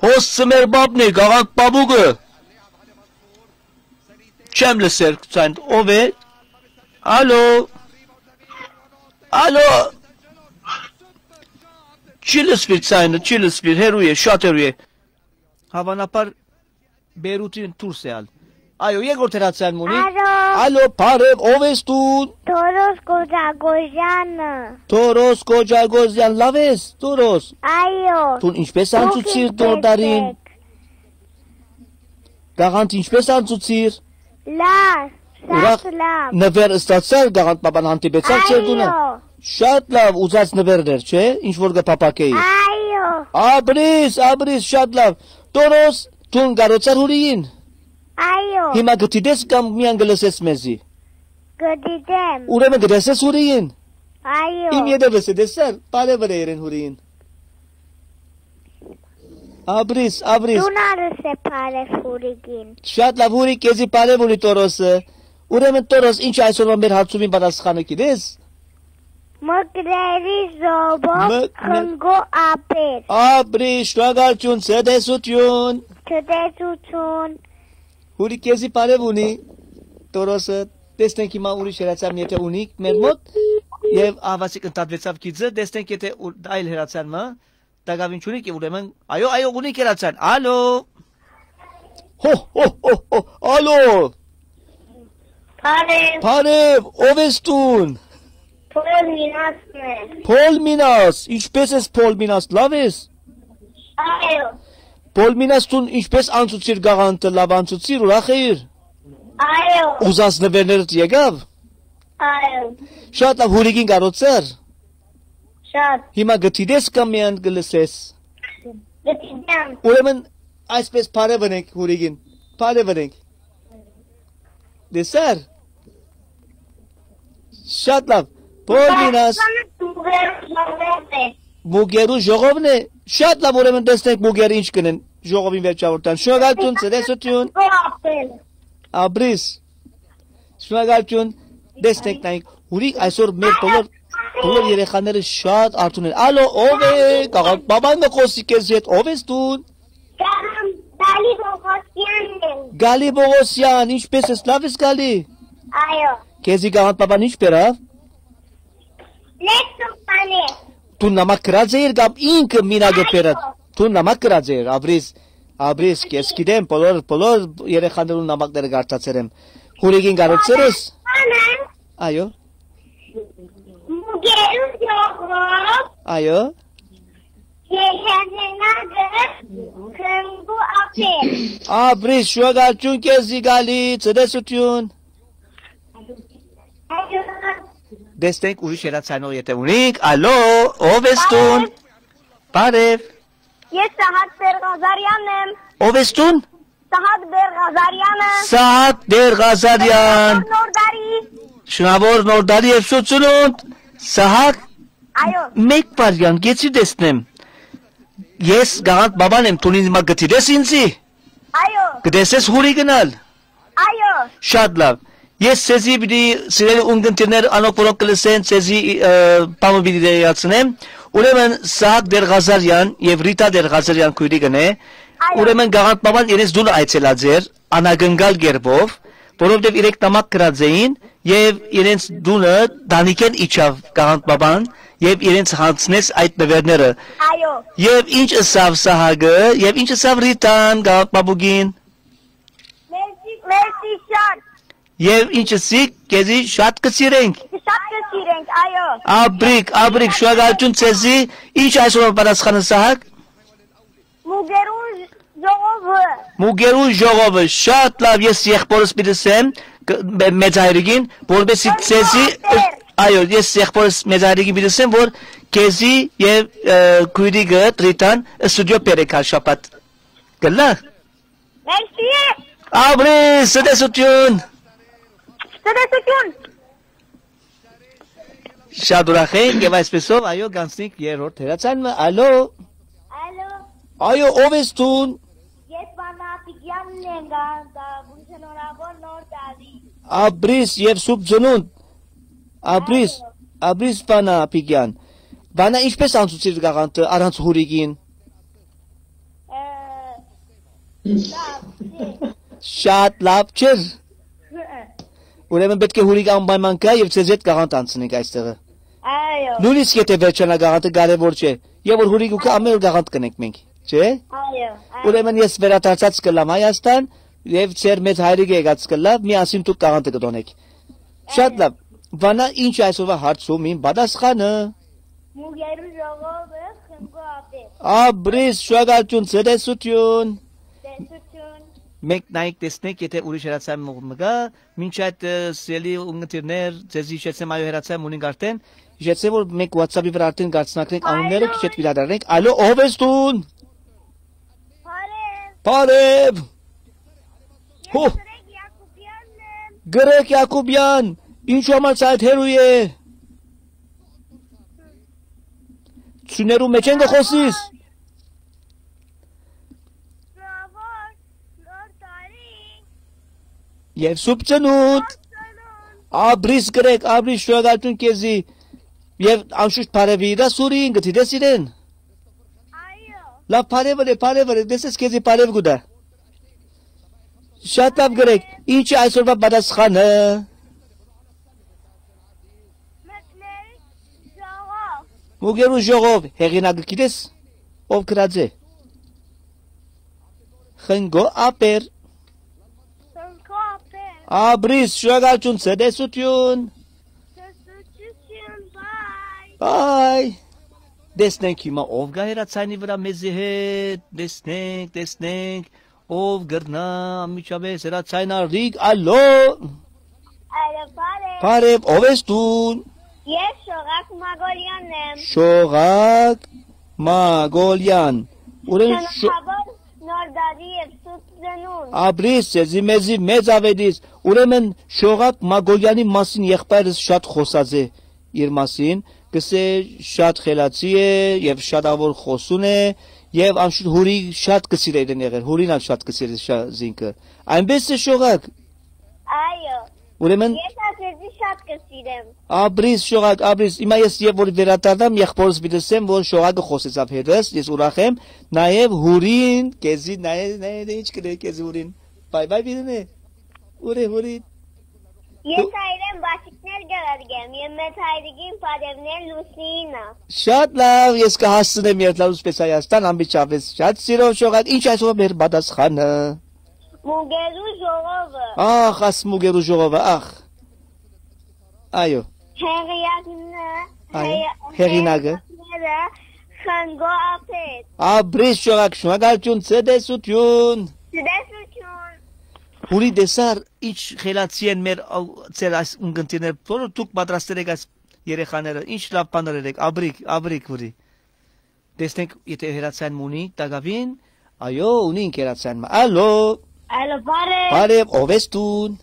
հոս ծմեր բաբն է, գաղակ պապուկը։ Չեմ լսեր ցանդ, ով է։ Ալո, ալո։ Չի լսվիր ցայնը, չի լսվիր, հեռու է, շատ հեռու է։ Հավանաբար Բեյրութին դուրս է ալ։ Այո, երկրորդ հեռացան մունի։ Ալո։ Ալո, բարև, ով ես դու։ Թորոս Կոջագոյանը։ Թորոս Կոջագոյան, լավ ես, Թորոս։ Այո։ Դուն ինչպես Դուք անցուցիր ինչպես դորդարին։ եք։ Գաղանդ ինչպես անցուցիր։ Լավ, Ուրախ շատ լավ։ նվեր ստացար, գաղանդ պապան հանդիպեցար ձեր տունը։ Այո։ Շատ լավ, ուզած նվերներ, չէ՞, ինչ որ կը փափակեի։ Այո։ Աբրիս, աբրիս, շատ լավ։ Թորոս, դուն կարոցար Հուրիին։ Այո։ Հիմա գտիտես կամ միան գլսես մեզի։ Գտիտեմ։ Ուրեմն գտեսես Հուրիին։ Այո։ Իմ ետևս է, տեսա՞ր, բարևը իրեն Հուրիին։ Աբրիս, աբրիս։ Դուն արս է բարև Հուրիկին։ Շատ լավ, Հուրիկ, քեզի բարև ունի Թորոսը։ Ուրեմն Թորոս, ինչ այսօրվա մեր հարցումին պատասխանը գիտես։ Մկրերի ժողովը Մկ-, մը- խնկո աբեր։ Աբրի, շնորհակալություն, ցտեսություն։ Ցտեսություն։ Հուրիկ, քեզի բարև ունի Թորոսը։ Տեսնենք հիմա ուրիշ հեռացան, եթե ունիք մեր մոտ, եւ ահավասիկ ընդհատվեցավ գիծը, տեսնենք եթե ու-, այլ հեռացան մը, տակավին չունի՞ք, ուրեմն, այո, այո, ունի կերացան։ Ալո։ Հո, հո, հո, հո, ալո։ Բարև։ Բարև, ով ես դուն։ Փոլ Մինասն է։ Փոլ Մինաս, ինչպե՞ս ես, Փոլ Մինաս, լավ ես։ Այո։ Պոլմինաս, դուն ինչպէս անցուցիր գաղանթը, լաւ անցուցիր, ուրախ էիր։ Այո։ Ուզած նվերներդ եկաւ։ Այո։ Շատ լաւ, հուրիկին կարոցար։ Շատ։ Հիմա գտի դես կամ միան կը լսես։ Գտի դեմ։ Ուրեմն այսպես բարեւնենք հուրիկին։ Բարեւնենք։ Դեսար։ Շատ լավ։ Պոլմինաս։ Մուկերու ժողովն է։ Շատ լավ, ուրեմն տեսնենք մուկերը ինչ կնեն ժողովին վերջավորտան։ Շնորհակալություն, ցտեսություն։ Ապրիս։ Շնորհակալություն, տեսնենք նայենք։ Ուրիկ այսօր մեր բոլոր, բոլոր երեխաները շատ արթուն են։ Ալո, ո՞վ է։ Կաղանդ բաբան մը խոսի քեզ հետ, ո՞վ ես դուն։ Գալի Պողոսյանն եմ։ Գալի Պողոսյան, ինչպէս ես, լաւ ես գալի։ Այո։ Քեզի կաղանդ բաբան ինչ բերավ։ Լեքսոն բանե։ Դու նամակ գրած էիր կամ ինքը մինագը բերած։ Դու նամակ գրած էիր, Աբրիս, Աբրիս, ես գիտեմ, բոլոր, բոլոր երեխաներուն նամակները կարդացեր եմ։ Հուրիկին կարոցեր ես։ Բանը։ Այո։ Մուկերու ժողով։ Այո։ Երեխաներնագը քնգու ապեր։ Աբրիս, շնորհակալություն քեզի գալի, ցտեսություն։ Այո։ Տեսնենք ուրիշ հեռացանող եթե ունենք, ալո, ո՞վ ես դուն։ Բարև։ Ես Սահակ Բերղազարյանն եմ։ Ո՞վ ես դուն։ Սահակ Բերղազարյանը։ Սահակ Բերղազարյան։ Նոր տարի։ Շնորհավոր նոր տարի եւ շունդ։ Սահակ։ Այո։ Մեկ բարյան, գեցի տեսնեմ։ Ես գաղանդ բաբան եմ, դուն ինձ մա գտի դես ինձի։ Այո։ Կտեսես հուրի գնալ։ Այո։ Շատ լավ։ Ես ցեզի պիտի, սիրելի ունգընտիրներ, անոնք, որոնք կը լսեն, ցեզի, ը, բանը պիտի տեղեկացնեմ։ Ուրեմն Սահակ Դերղազարյան եւ Ռիտա Դերղազարյան քոյրիկն է։ Այո։ Ուրեմն գաղանդ բաբան իրենց դուն այցելած էր, անակնկալ կերպով, որովհետեւ իրենք նամակ գրած էին եւ իրենց դունը տանիքէն իջաւ գաղանդ բաբան եւ իրենց յանձնեց այդ նվերները։ Այո։ Եւ ինչ ըսաւ Սահակը, եւ ինչ ըսաւ Ռիտան, գաղանդ բաբուկին։ Մերսի, մերսի շատ։ Եւ ինչ ըսի, քեզի շատ կը սիրենք։ Շատ կը սիրենք, այո։ Աբրիկ, աբրիկ, շնորհակալություն ցեզի, ինչ այսօր պատասխանը Սահակ։ Մուկերու ժողովը։ Մուկերու ժողովը, շատ լավ, ես եղբորս պիտի սեմ, կ-, մե-, մեծ հայրիկին, որպեսի Ըստ ցեզի, ըստ այո, ես եղբորս մեծ հայրիկին պիտի սեմ, որ քեզի եւ, ը, քույրիկը Ռիտան ստուդիո բերեք հար շաբաթ։ Կլա։ Մերսի։ Աբրի, ցտեսություն։ Ցտեսություն։ Շատ ուրախ ենք եւ այսպեսով, այո, գանցնենք երրորդ հեռացան մը, ալո։ Ալո։ Այո, ո՞վ ես դուն։ Ես Վանա Աբիկյանն եմ, գա-, գա-, շնորհավոր նոր տարի։ Աբրիս եւ սուրբ ծնունդ։ Աբրիս, այո։ Աբրիս Վանա Աբիկյան։ Վանա, ինչպես անցուցիր գաղանթը առանց հուրիկին։ Ը, լավ, չէ։ Շատ լավ չէր։ Ուրեմն պէտք է հուրիկ անպայման գայ եւ ձեզ հետ գաղանթ անցնենք այստեղը։ Այո։ Նույնիսկ եթե վերջանայ գաղանթը կարեւոր չէ։ Եւ որ հուրիկ ու գայ, ամէն օր գաղանթ կ'ընենք մենք, չէ՞։ Այո, այո։ Ուրեմն ես վերադարձած կ'ըլլամ Հայաստան եւ ձեր մեծ հայրիկը եկած կ'ըլլայ, միասին դուք գաղանթը կ'ընենք։ Շատ լավ։ Վանա, ինչ այսօրվա հարցումին պատասխանը։ Մուկերու ժողովը խնկո ապեր։ Աբրիս, շնորհակալություն, ցտեսություն։ Տեսություն։ Մենք նայենք, տեսնենք, եթե ուրիշ հեռացան մը կա, մինչ այդ, ը, սիրելի ունգընտիրներ, ձեզի հիշեցնեմ, այո, հեռացան մունինք արդեն։ Հիշեցնեմ, որ մենք WhatsApp-ի վրա արդեն կ'արցնակնենք անունները, քիչ հետ պիտի դառնանք։ Ալո, ո՞վ ես դուն։ Բարև։ Բարև։ Հո։ Ես Գրեգ Յակոբյանն եմ։ Գրեգ Յակոբյան, ինչու համար սա այդ հեռու է։ Ցուներու մեջ են գը խոսիս։ Շնորհավոր նոր տարի։ Եվ սուրբ ծնունդ։ Նոր ծնունդ։ Աբրիս Գրեգ, աբրիս, շնորհակալություն քեզի։ Եվ անշուշտ բարևի իրա Սուրին, գտի դես իրեն։ Այո։ Լավ, բարևը լե, բարևը լե, դեսես քեզի բարև գուտա։ Շատ լավ Գրեգ, ինչ է այսօրվա պատասխանը։ Մկների ժողով։ Մուկերու ժողով, հեղինակը գիտես, ով գրած է։ Խնկո Ապեր։ Խնկո Ապեր։ Աբրիս, շնորհակալություն, ցտեսություն։ Ցտեսություն, bye։ Bye։ Տեսնենք հիմա ով կայ հեռացանի վրայ մեզի հետ, տեսնենք, տեսնենք, ով կրնայ անմիջապէս հեռացան առնիք, ալո։ Ալո, բարև։ Բարև, ով ես դուն։ Ես Շողակ Մագոլյանն եմ։ Շողակ Մագոլյան։ Ուրեմն շո- Շնորհավոր նոր տարի եւ սուրբ ծնունդ։ Ապրիս, ձեզի մեզի մեծ աւետիս։ Ուրեմն Շողակ Մագոլյանի մասին եղբայրս շատ խօսած է իր մասին, կսէ շատ խելացի է եւ շատ ավոր խօսուն է, եւ անշուշտ Հուրի շատ կը սիրէ իրեն եղեր, Հուրին ալ շատ կը սիրէ շա- զինքը։ Այնպէս է, Շողակ։ Այո։ Ուրեմն ես ա քեզի շատ կը սիրեմ։ Ապրիս, Շողակ, ապրիս։ Հիմա ես երբ որ վերադառնամ, եղբորս պիտի ասեմ, որ Շողակը խօսեցաւ հետս, ես ուրախ եմ, նաեւ Հուրին, քեզի նայ, նայ, նայ, ինչ կ'ընէ քեզի Հուրին։ Bye bye պիտի ընէ։ Ուրի, Հուրի։ Ես այրեն բաչիկներ կ'ղրկեմ եւ մեծ հայրիկին պատեւներ Լուսինա։ Շատ լավ, ես կը հասցնեմ երթալուց պես Հայաստան, անմիջապէս շատ սիրով, Շողակ, ինչ այսօր մեր պատասխանը։ Մուկերու ժողովը։ Ախ, աս մուկերու ժողովը, ախ։ Այո։ Հեղիակն է, Այո, հեղի- հեղինակը։ հեղինակները Խնկո Ափեր։ Ապրիս, Շողակ, շնորհակալություն, ցտեսություն։ Ցտեսություն։ Հուրի, տեսար, ինչ խելացի են մեր, ա, ձեր այս ունկնդիրները, բոլոր դուք պատրաստել եք այս երեխաները, ինչ լավ բաներ եք, աբրիկ, աբրիկ, Հուրի։ Տեսնենք, եթե հեռացան մը ունի, տակավին, այո, ունի ինք հեռացան մը։ Ալո։ Ալո, բարև։ Բարև, ով ես դուն։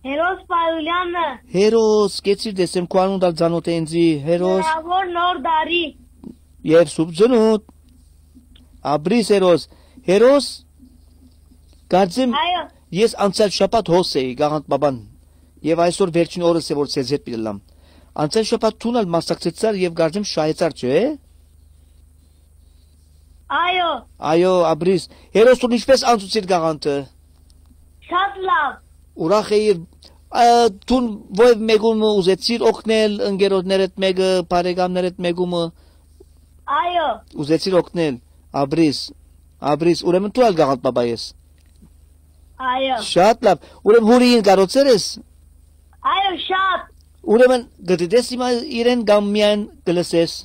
Հերոս Պարուլյանը։ Հերոս, կեցիր տեսեմ, քո անունդ ալ ծանոթ է ինձի, Հերոս։ Հեռավոր նոր տարի։ Եւ սուրբ ծնունդ։ Ապրիս, Հերոս։ Հերոս, կարծեմ, Այո։ ես անցյալ շաբաթ հոս էի, Գաղանդ Պապան, եւ այսօր վերջին օրս է, որ ձեզ հետ պիտի լամ։ Անցյալ շաբաթ դուն ալ մասնակցեցար եւ կարծեմ շահեցար, չէ՞։ Այո։ Այո, Ապրիս, Հերոս, դուն ինչպես անցուցիր Գաղանդը։ Շատ լավ։ Ուրախ էիր, ա, դուն ովեւ մեկուն մը ուզեցիր օգնել, ընկերոջներդ մեկը, բարեկամներդ մեկումը։ Այո։ Ուզեցիր օգնել, Ապրիս, Ապրիս, ուրեմն դու ալ Գաղանդ Պապա ես։ Այո։ Շատ լավ, ուրեմն Հուրիին կարոցեր ես։ Այո, շատ։ Ուրեմն գտիտես հիմա իրեն կամ միայն կլսես։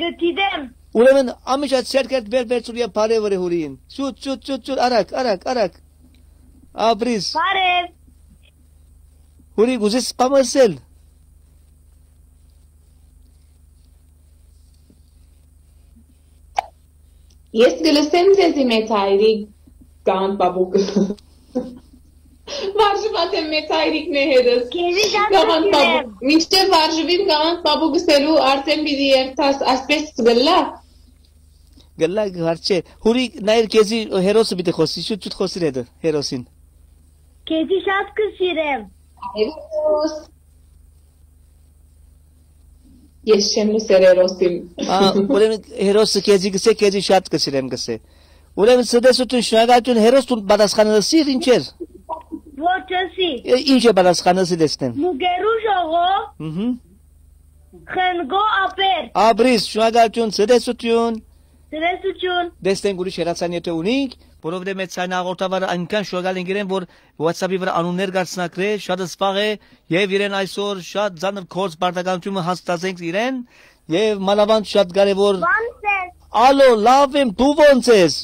Գտիտեմ։ Ուրեմն ամիջա ցերկերդ վեր վերցուր եւ բարեւը Հուրիին։ Շուտ, շուտ, շուտ, շուտ, արագ, արագ, արագ։ Ապրիս։ Բարև։ Հուրի, կուզես բան ասել։ Ես կը լսեմ ձեզի, մեծ հայրիկ, Գաղանդ Պապուկ։ Վարժուած եմ, մեծ հայրիկ, մը հերս։ Քեզի շատ Գաղանդ կսիրեմ։ Պապուկ, մինչդեռ վարժուիմ Գաղանդ Պապուկ ըսելու, արդեն պիտի երթաս, ասպէս կլա։ Գլա, հարց չէ։ Հուրի, նայր քեզի, Հերոսը պիտի խօսի, շուտ, շուտ խօսիր հետը, Հերոսին։ Քեզի շատ կսիրեմ։ Հերոս։ Ես չեմ լսեր Հերոսին։ Ա, ուրեմն Հերոսը քեզի գսե, քեզի շատ կսիրեմ գսե։ Ուրեմն ցտեսություն, շնորհակալություն, Հերոս, դու պատասխանը լսիր, ինչ էր։ Ոչ, ըսի։ Է, ինչ է պատասխանը, լսի տեսնեմ։ Մուկերու ժողով, Մհմ։ Խնկո Ափեր։ Ապրիս, շնորհակալություն, ցտեսություն։ Ցտեսություն։ Տեսնենք ուրիշ հեռացան եթե ունինք, որովհետև մեծ ցայնահաղորդավարը այնքան շնորհակալ ենք իրեն, որ WhatsApp-ի վրա անուններ կարձնակրե, շատ սպաղ է, եւ իրեն այսօր շատ ծանր գործ պարտականությունը հաստատենք իրեն, եւ մանավանդ շատ կարեւոր Ո՞նց ես։ Ալո, լավ եմ, դու ո՞նց ես։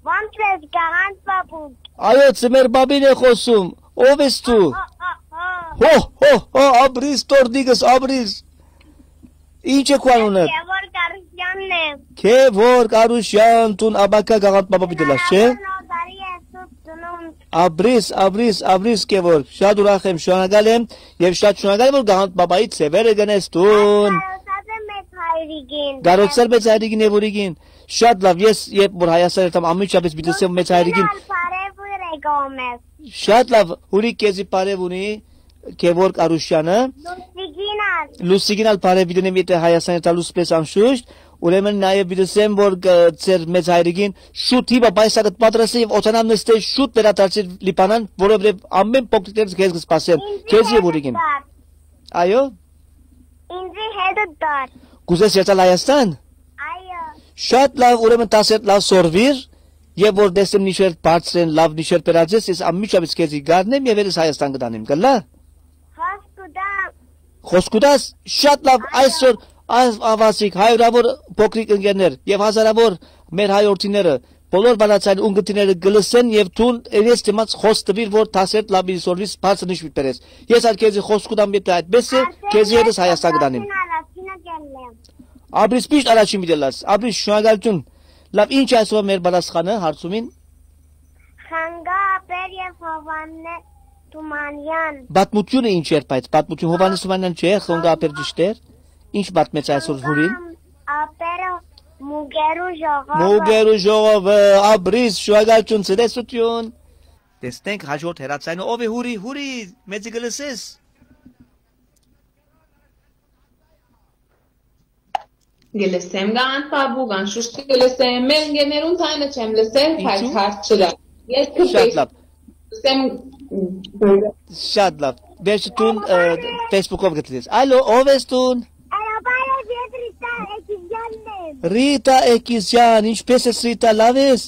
Ո՞նց ես, Գաղանդ Պապուկ։ Այո, ծմեր բաբին է խոսում, ով ես դու։ Ա, ա, ա, ա։ Հո, հո, հո, Ապրիս, տորտիկս, Ապրիս։ Ինչ է քո անունը։ Գևորգ Արուշյանն է։ Գևորգ Արուշյան, դուն ապագա Գաղանդ Պապա պիտի լաս, չէ։ Նոր տարի է, սուրբ ծնունդ։ Ապրիս, Ապրիս, Ապրիս, Գևորգ, շատ ուրախ եմ, շնորհակալ եմ, եւ շատ շնորհակալ եմ, որ Գաղանդ Պապայի ձևերը գնես դուն։ Կարոցած եմ մեծ հայրիկին։ Կարոցար մեծ հայրիկին եւ ուրիկին։ Շատ լավ, ես երբ որ Հայաստան երթամ, անմիջապես պիտի ասեմ մեծ հայրիկին։ Լուսիկին ալ բարեւ ուրեք ո մեզ։ Շատ լավ, Հուրիկ քեզի բարեւ ունի, Գևորգ Արուշյանը։ Լուսիկին ալ։ Լուսիկին ալ բարեւ պիտի ունեմ, եթե Հայաստան երթալուց պես անշուշտ, ուրեմն նաեւ պիտի ասեմ, որ կ-, ձեր մեծ հայրիկին շուտ հիմա պայսակը պատրաստի եւ օտանան նստե շուտ վերադարձի Լիբանան, որովհետեւ ամեն փոքրիկներս քեզ կսպասեմ, Ինձի քեզ եւ հետը ուրիկին։ Դար։ Այո։ Ինձի հետը դար։ Կուզես երթալ Հայաստան։ Այո։ Շատ լավ, ուրեմն դասեր լավ սորվիր, եւ որ տեսնեմ նիշեր բարձր են, լավ նիշեր բերած ես, ես անմիջապես քեզի գարնեմ եւ երես Հայաստան կտանեմ, կլա։ Խոսք կտամ։ Խոսք կտաս, շատ լավ, Այո։ այսօր Այս ավազիկ, հարիւրաւոր փոքրիկ ընկերներ եւ հազարաւոր մեր հայ օրդիները, բոլոր բանաձայն ունգընտիրները կը լսեն եւ դուն ես դիմաց խօս տուիր, որ դասեր լապի սորվիս բարձր նիշ պիտի բերես։ Ես ալ քեզի խօս կու տամ, եթե այդպես է, քեզի ետս Հայաստան կտանիմ։ Առաջինը կ'ելլեմ։ Ապրիս միշտ առաջին պիտի ըլլաս, ապրիս շնորհակալություն։ Լավ, ինչ այսօր մեր պատասխանը հարցումին։ Խանգա ապեր եւ Հովաննե Թումանեան։ Պատմությունը ինչ էր, բայց պատմություն Հովաննես Թումանեան չէ, խոնգա ապեր ճիշտ էր։ Ինչ պատմեց այսօր հուրին։ Խանգա ապերը Մուկերու ժողովը։ Մուկերու ժողովը, ապրիս, շնորհակալություն, ցտեսություն։ Տեսնենք հաջորդ հեռացայինը, ով է հուրի, հուրի, մեզի կը լսես։ Կը լսեմ Գանթ Պապուկ, անշուշտ կը լսեմ, մեր ընկերներուն թայնը չեմ լսեր, բայց Ինչու՞։ Հարց չկա։ Ես կը Շատ լավ, լսեմ շատ լավ։ Վերջը դուն, ը, Facebook-ով գտնես։ Ալո, ով ես դուն։ Արաբարը ես Ռիտա Էքիզյանն եմ։ Ռիտա Էքիզյան, ինչպե՞ս ես, Ռիտա, լավ ես։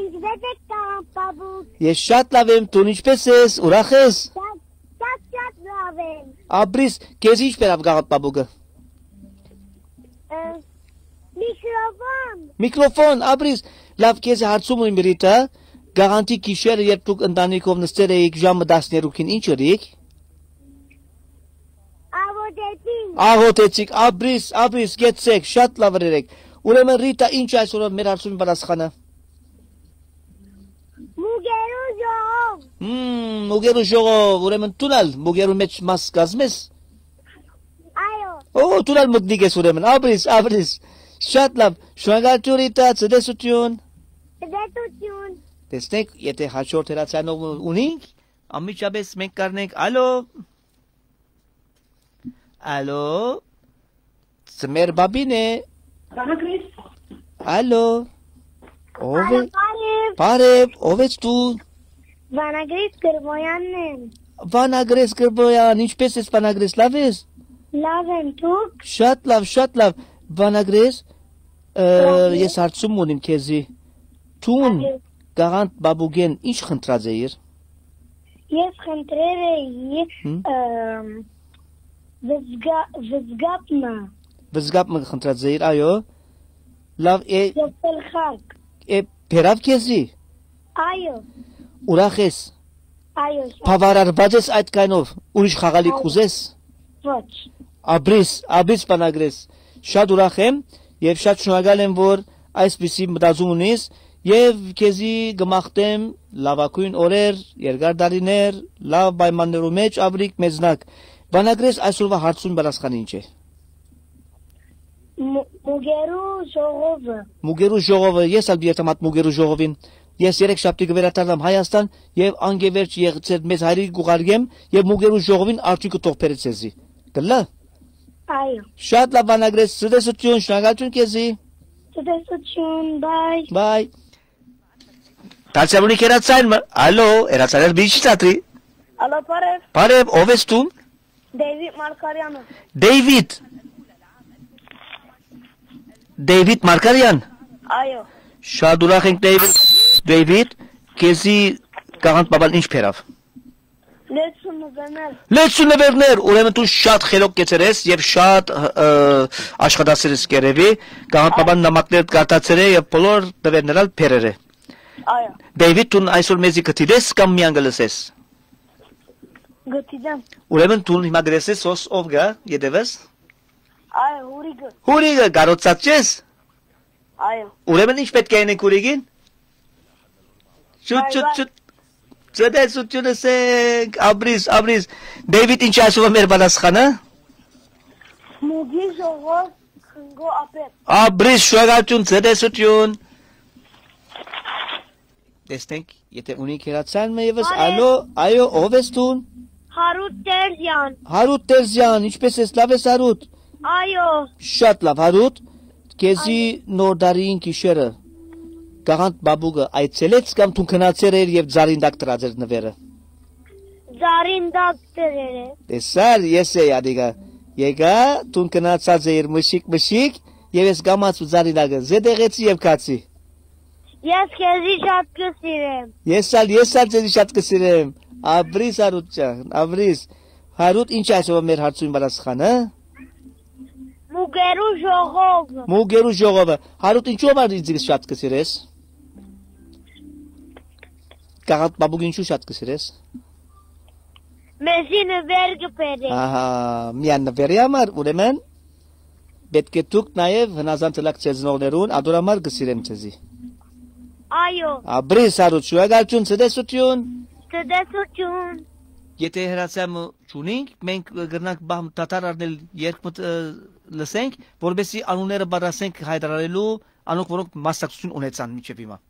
Ինչպե՞ս եք, Գանթ Պապուկ։ Ես շատ լավ եմ, դուն ինչպե՞ս ես, ուրախ ես։ Շատ, շատ, շատ լավ եմ։ Ապրիս, քեզ ինչ բերաւ Գանթ Պապուկը։ Ը, միկրոֆոն։ Միկրոֆոն, ապրիս, լավ, քեզ հարցում ունիմ, Ռիտա, գաղանթի գիշերը, երբ դուք ընտանիքով նստեր էիք ժամը տասներկուին, ինչ ըրիք։ Աղոթեցինք։ Աղոթեցիք, ապրիս, ապրիս, գեցեք, շատ լավ ըրերեք։ Ուրեմն, Ռիտա, ինչ այսօր մեր հարցումի պատասխանը։ Մուկերու ժողով։ Հմ, մուկերու ժողով, ուրեմն դուն ալ մուկերու մեջ մաս կազմես։ Այո։ Ո, դուն ալ մտնիկ ես ուրեմն, ապրիս, ապրիս։ Շատ լավ, շնորհակալություն, Ռիտա, ցտեսություն։ Ցտեսություն։ Տեսնեք, եթե հաջորդ հեռացանող ունինք, անմիջապես մենք կառնենք, ալո։ Ալո, Սմեր Բաբին է։ Ալո, ով է։ Ալո, բարև։ Բարև, ով ես դու։ Վանագրիս Գրբոյանն եմ։ Վանագրես Գրբոյան, ինչպե՞ս ես, Վանագրես, լավ ես։ Լավ եմ, դուք։ Շատ լավ, շատ լավ։ Վանագրես, ը, Լավ եմ։ Ես հարցում ունիմ քեզի։ Դուն Այո։ Գաղանթ Բաբուկեն ինչ խնդրած էիր։ Ես խնդրեր էի, Հմ։ ըմ, վզգա-, վզգապ մը։ Վզգապ մը խնդրած էիր, այո։ Լավ, է, Ես գլխարկ։ Է, բերավ քեզի։ Այո։ Ուրախ ես։ Այո, շատ։ Բավարարված ես այդ կայնով, ուրիշ խաղալիք Այո։ Կուզես։ Ոչ։ Ապրիս, ապրիս Վանագրես։ Շատ ուրախ եմ եւ շատ շնորհակալ եմ, որ այսպիսի մտածում ունիս, եւ քեզի կը մաղթեմ լաւագոյն օրեր, երկար տարիներ, լաւ պայմաններու մեջ ապրիք մեզնակ։ Վանագրես, այսօրվա հարցուն պատասխանը ինչ է։ Մու-, մուկերու ժողովը։ Մուկերու ժողովը, ես ալ երթամ այդ մուկերու ժողովին։ Ես երեք շաբթի կը վերադառնամ Հայաստան եւ անկեվերջ եղցեր մեծ հայրիկի կուղարկեմ եւ մուկերու ժողովին արդիւնքը թող բերե ձեզի։ Կլա։ Այո։ Շատ լավ, Վանագրես, ցտեսություն, շնորհակալություն քեզի։ Ցտեսություն, bye։ Bye։ Դարձյալ ունի հեռացան մը, ալո, հեռացանել մի չի ծատրի։ Ալո, բարև։ Բարև, ով ես դու։ Դեյվիդ Մարկարյանը։ Դեյվիդ։ Դեյվիդ Մարկարյան։ Այո։ Շատ ուրախ ենք, Դեյվիդ։ Դեյվիդ, քեզի Գաղանթ Բաբան ինչ բերավ։ Լեցուն նվերներ։ Լեցուն նվերներ, ուրեմն դու շատ խելոք կեցեր ես եւ շատ, ը, աշխատասեր ես կերեւի, Գաղանթ Բաբան նամակներ կարտացեր է եւ բոլոր նվերներ ալ բերեր է։ Այո։ Դեյվիդ, դուն այսօր մեզի կդիտես կամ միան կլսես։ Կդիտեմ։ Ուրեմն դուն հիմա կտեսնես հոս ով գա, ետևս։ Այո, հուրիկը։ Հուրիկը, կարոցած չես։ Այո։ Ուրեմն ինչ պետք է անենք հուրիկին։ Շուտ, Bye շուտ, bye։ Շուտ։ Ցտեսությունս ենք, ապրիս, ապրիս։ Դեյվիդ, ինչ ասում է մեր պատասխանը։ Մուկի ժողով խնկո ապեր։ Ապրիս, շնորհակալություն, ցտեսություն։ Տեսնենք, եթե ունի քերացան մը եւս, Բարև։ Ալո, այո, ով ես դուն։ Հարութ Տերզյան։ Հարութ Տերզյան, ինչպե՞ս ես, լավ ես, Հարութ։ Այո։ Շատ լավ, Հարութ, քեզի Այո։ Նոր տարին գիշերը Գաղանթ Բաբուկը այցելեց կամ դու գնացեր էր եւ ձարին տակ դրած էր նվերը։ Ձարին տակ դրեր է։ Տեսար, ես էի ադիգա։ Եկա, դու գնացած էիր մշիկ-մշիկ, եւ ես կամաց ու ձարին տակը զետեղեցի եւ քացի։ Ես քեզի շատ կը սիրեմ։ Ես ալ, ես ալ ձեզի շատ կը սիրեմ։ Ապրիս, Հարութ ջան, ապրիս։ Հարութ, ինչ այսօր մեր հարցումին պատասխանը։ Մուկերու ժողովը։ Մուկերու ժողովը։ Հարութ, ինչու համար ինձ շատ կը սիրես։ Կաղանդ պապուկ, ինչու շատ կը սիրես։ Մեզի նվեր կը բերէ։ Ահա, միան նվերի համար, ուրեմն, պէտք է դուք նաեւ հնազանդ ըլաք ձեզնողներուն, ադոր համար կը սիրեմ ձեզի։ Այո։ Ապրի, Հարութ, շնորհակալութիւն, ցտեսութիւն։ Ցտեսութիւն։ Եթե հրացան չունինք, մենք կրնանք բահ դադար առնել, երգ մտ-, ը, լսենք, որպեսզի անունները պատրաստենք հայտարարելու անոնք, որոնք մասնակցություն ունեցան մինչեւ հիմա։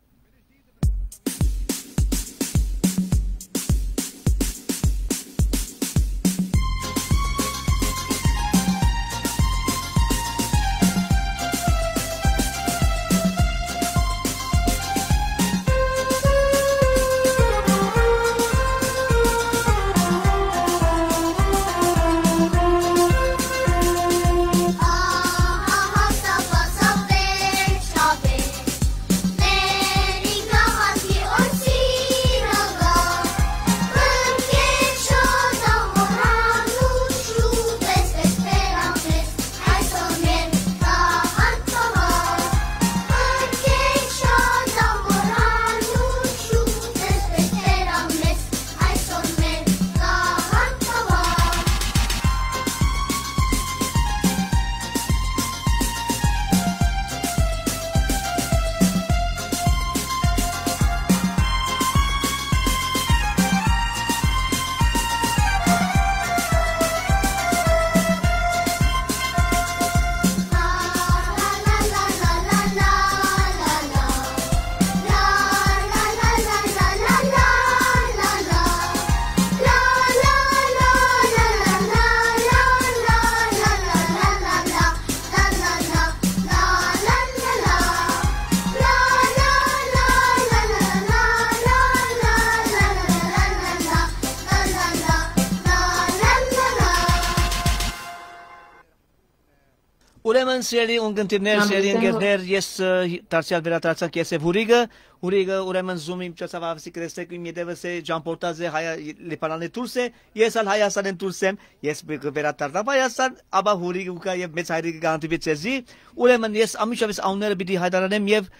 Ուրեմն, սիրելի ունգընտիրներ, սիրելի ընկերներ, ես, ը, դարձեալ վերադարձանք ես եւ Հուրիկը։ Հուրիկը, ուրեմն, Zoom-ի միջոցով, ավսի կրեստեք իմ ետևս է, ճամփորդած է, Հայ-, Լիբանանէ դուրս է, ես ալ Հայաստանէն դուրս եմ, ես բ-, կը վերադառնամ Հայաստան, ապա Հուրիկը կա եւ մեծ հայրիկը կհանդիպի ձեզի։ Ուրեմն, ես անմիջապես անունները պիտի հայտարարեմ եւ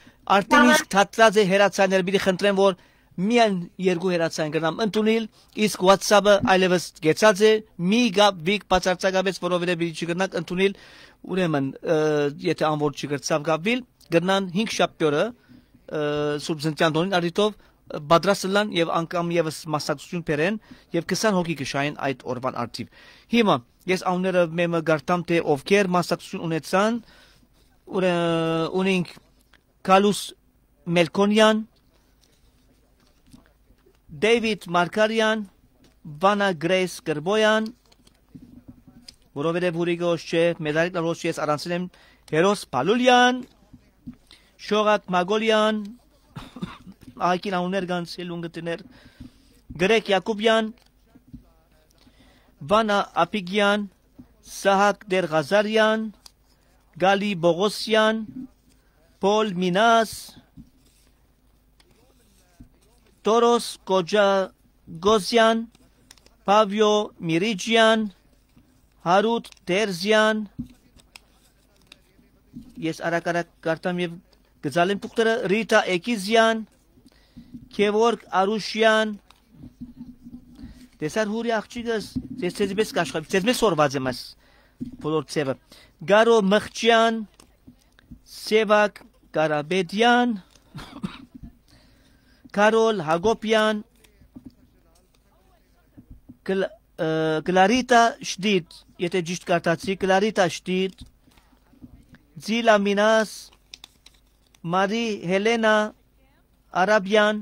արդեն իսկ դադրած է հեռացաները, պիտի խնդրեմ, որ միայն երկու հեռացան կրնամ ընդունիլ, իսկ WhatsApp-ը այլևս կեցած է, մի կապ վիք բացարձակապես, որովհետեւ պիտի չկրնաք ընդունիլ, ուրեմն, ը, եթե անոր չկրցաւ կապվել, կրնան հինգ շաբթի օրը, ը, Սուրբ Ծննդեան տօնին առիթով, ը, պատրաստ ըլլան եւ անգամ եւս մասնակցություն բերեն եւ քսան հոգի կը շահեն այդ օրուան արդիւ։ Հիմա ես անունները մեմը գարտամ, թե ովքեր մասնակցություն ունեցան, ուրը-, ունենք Գալուս Մելքոնեան, Դեյվիդ Մարգարեան, Վանա Գրեյս Կրբոյան, որովհետեւ Հուրիկը հոս չէ, մեդալիկ նարոս ես առանցին եմ, Հերոս Փալուլեան, Շողակ Մագոլեան, ահագին անուններ կան, սիրելի ունգընտիրներ, Գրեկ Յակոբեան, Վանա Աբիգեան, Սահակ Դերղազարեան, Գալի Պողոսեան, Պոլ Մինաս, Տորոս Կոջագոզեան, Պավիո Միրիջեան, Հարութ Տերզեան, ես արագ-արագ կարտամ եւ կը զալեմ թուղթերը, Ռիտա Էկիզեան, Գեորգ Արուշեան, տեսար Հուրի աղջիկս, ես ձեզի պես կաշխատեմ, ձեզ մեզ սորված եմ այս բոլոր ձևը, Գարո Մղճեան, Սևակ Կարապետեան, Կարոլ Հակոբեան, Կլ-, ը, Կլարիտա Շտիտ, եթե ճիշտ կարդացի, Կլարիտա Շտիտ, Ձիլա Մինաս, Մարի Հելենա Արաբեան,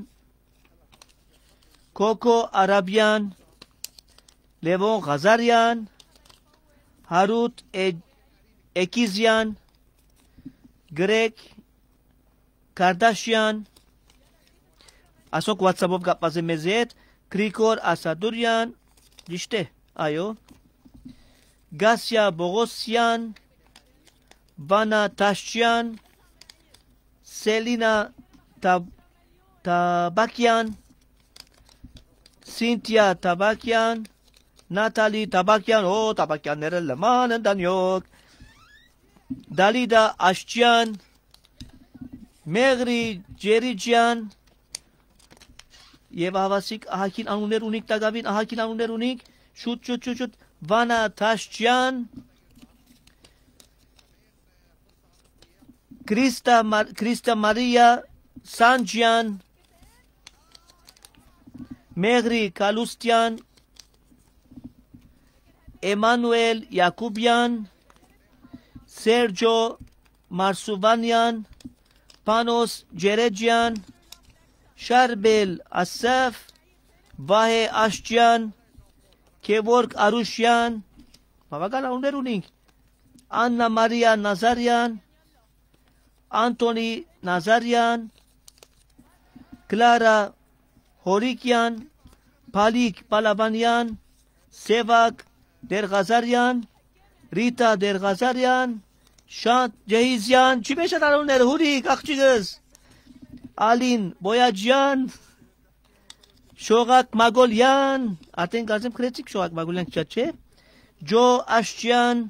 Քոքո Արաբեան, Լևոն Ղազարեան, Հարութ Է-, Էկիզեան, Գրեկ Կարդաշեան, ասոնք WhatsApp-ով կապված է մեզի հետ, Գրիգոր Ասադուրեան, ճիշտ է, այո, Գասիա Պողոսեան, Վանա Դաշչեան, Սելինա Թա-, Թաբակեան, Սինթիա Թաբակեան, Նաթալի Թաբակեան, օ, Թաբակեանները լման ընտանիոք, Դալիդա Աշճեան, Մեղրի Ջերիջեան, եւ ահավասիկ ահագին անուններ ունիք, տակաւին ահագին անուններ ունիք, շուտ, շուտ, շուտ, շուտ, Վանա Թաշճեան, Քրիստա Մար-, Քրիստա Մարիա Սանջեան, Մեղրի Կալուստեան, Էմանուել Յակուբեան, Սերջո Մարսուվանեան, Պանոս Ջերեջեան, Շարբել Ասաֆ, Վահէ Աշճեան, Գեորգ Արուշեան, բաւական անուններ ունինք, Աննա Մարիա Նազարեան, Անտոնի Նազարեան, Կլարա Հորիկեան, Փալիկ Պալաբանեան, Սեւակ Դերղազարեան, Ռիտա Դերղազարեան, Շանթ Ջեհիզեան, չի մե շատ անունները, Հուրիկ, աղջիկս, Ալին Բոյաջեան, Շողակ Մագոլեան, արդեն կարծեմ գրեցիք Շողակ Մագոլեան, շատ չէ, Ջո Աշճեան,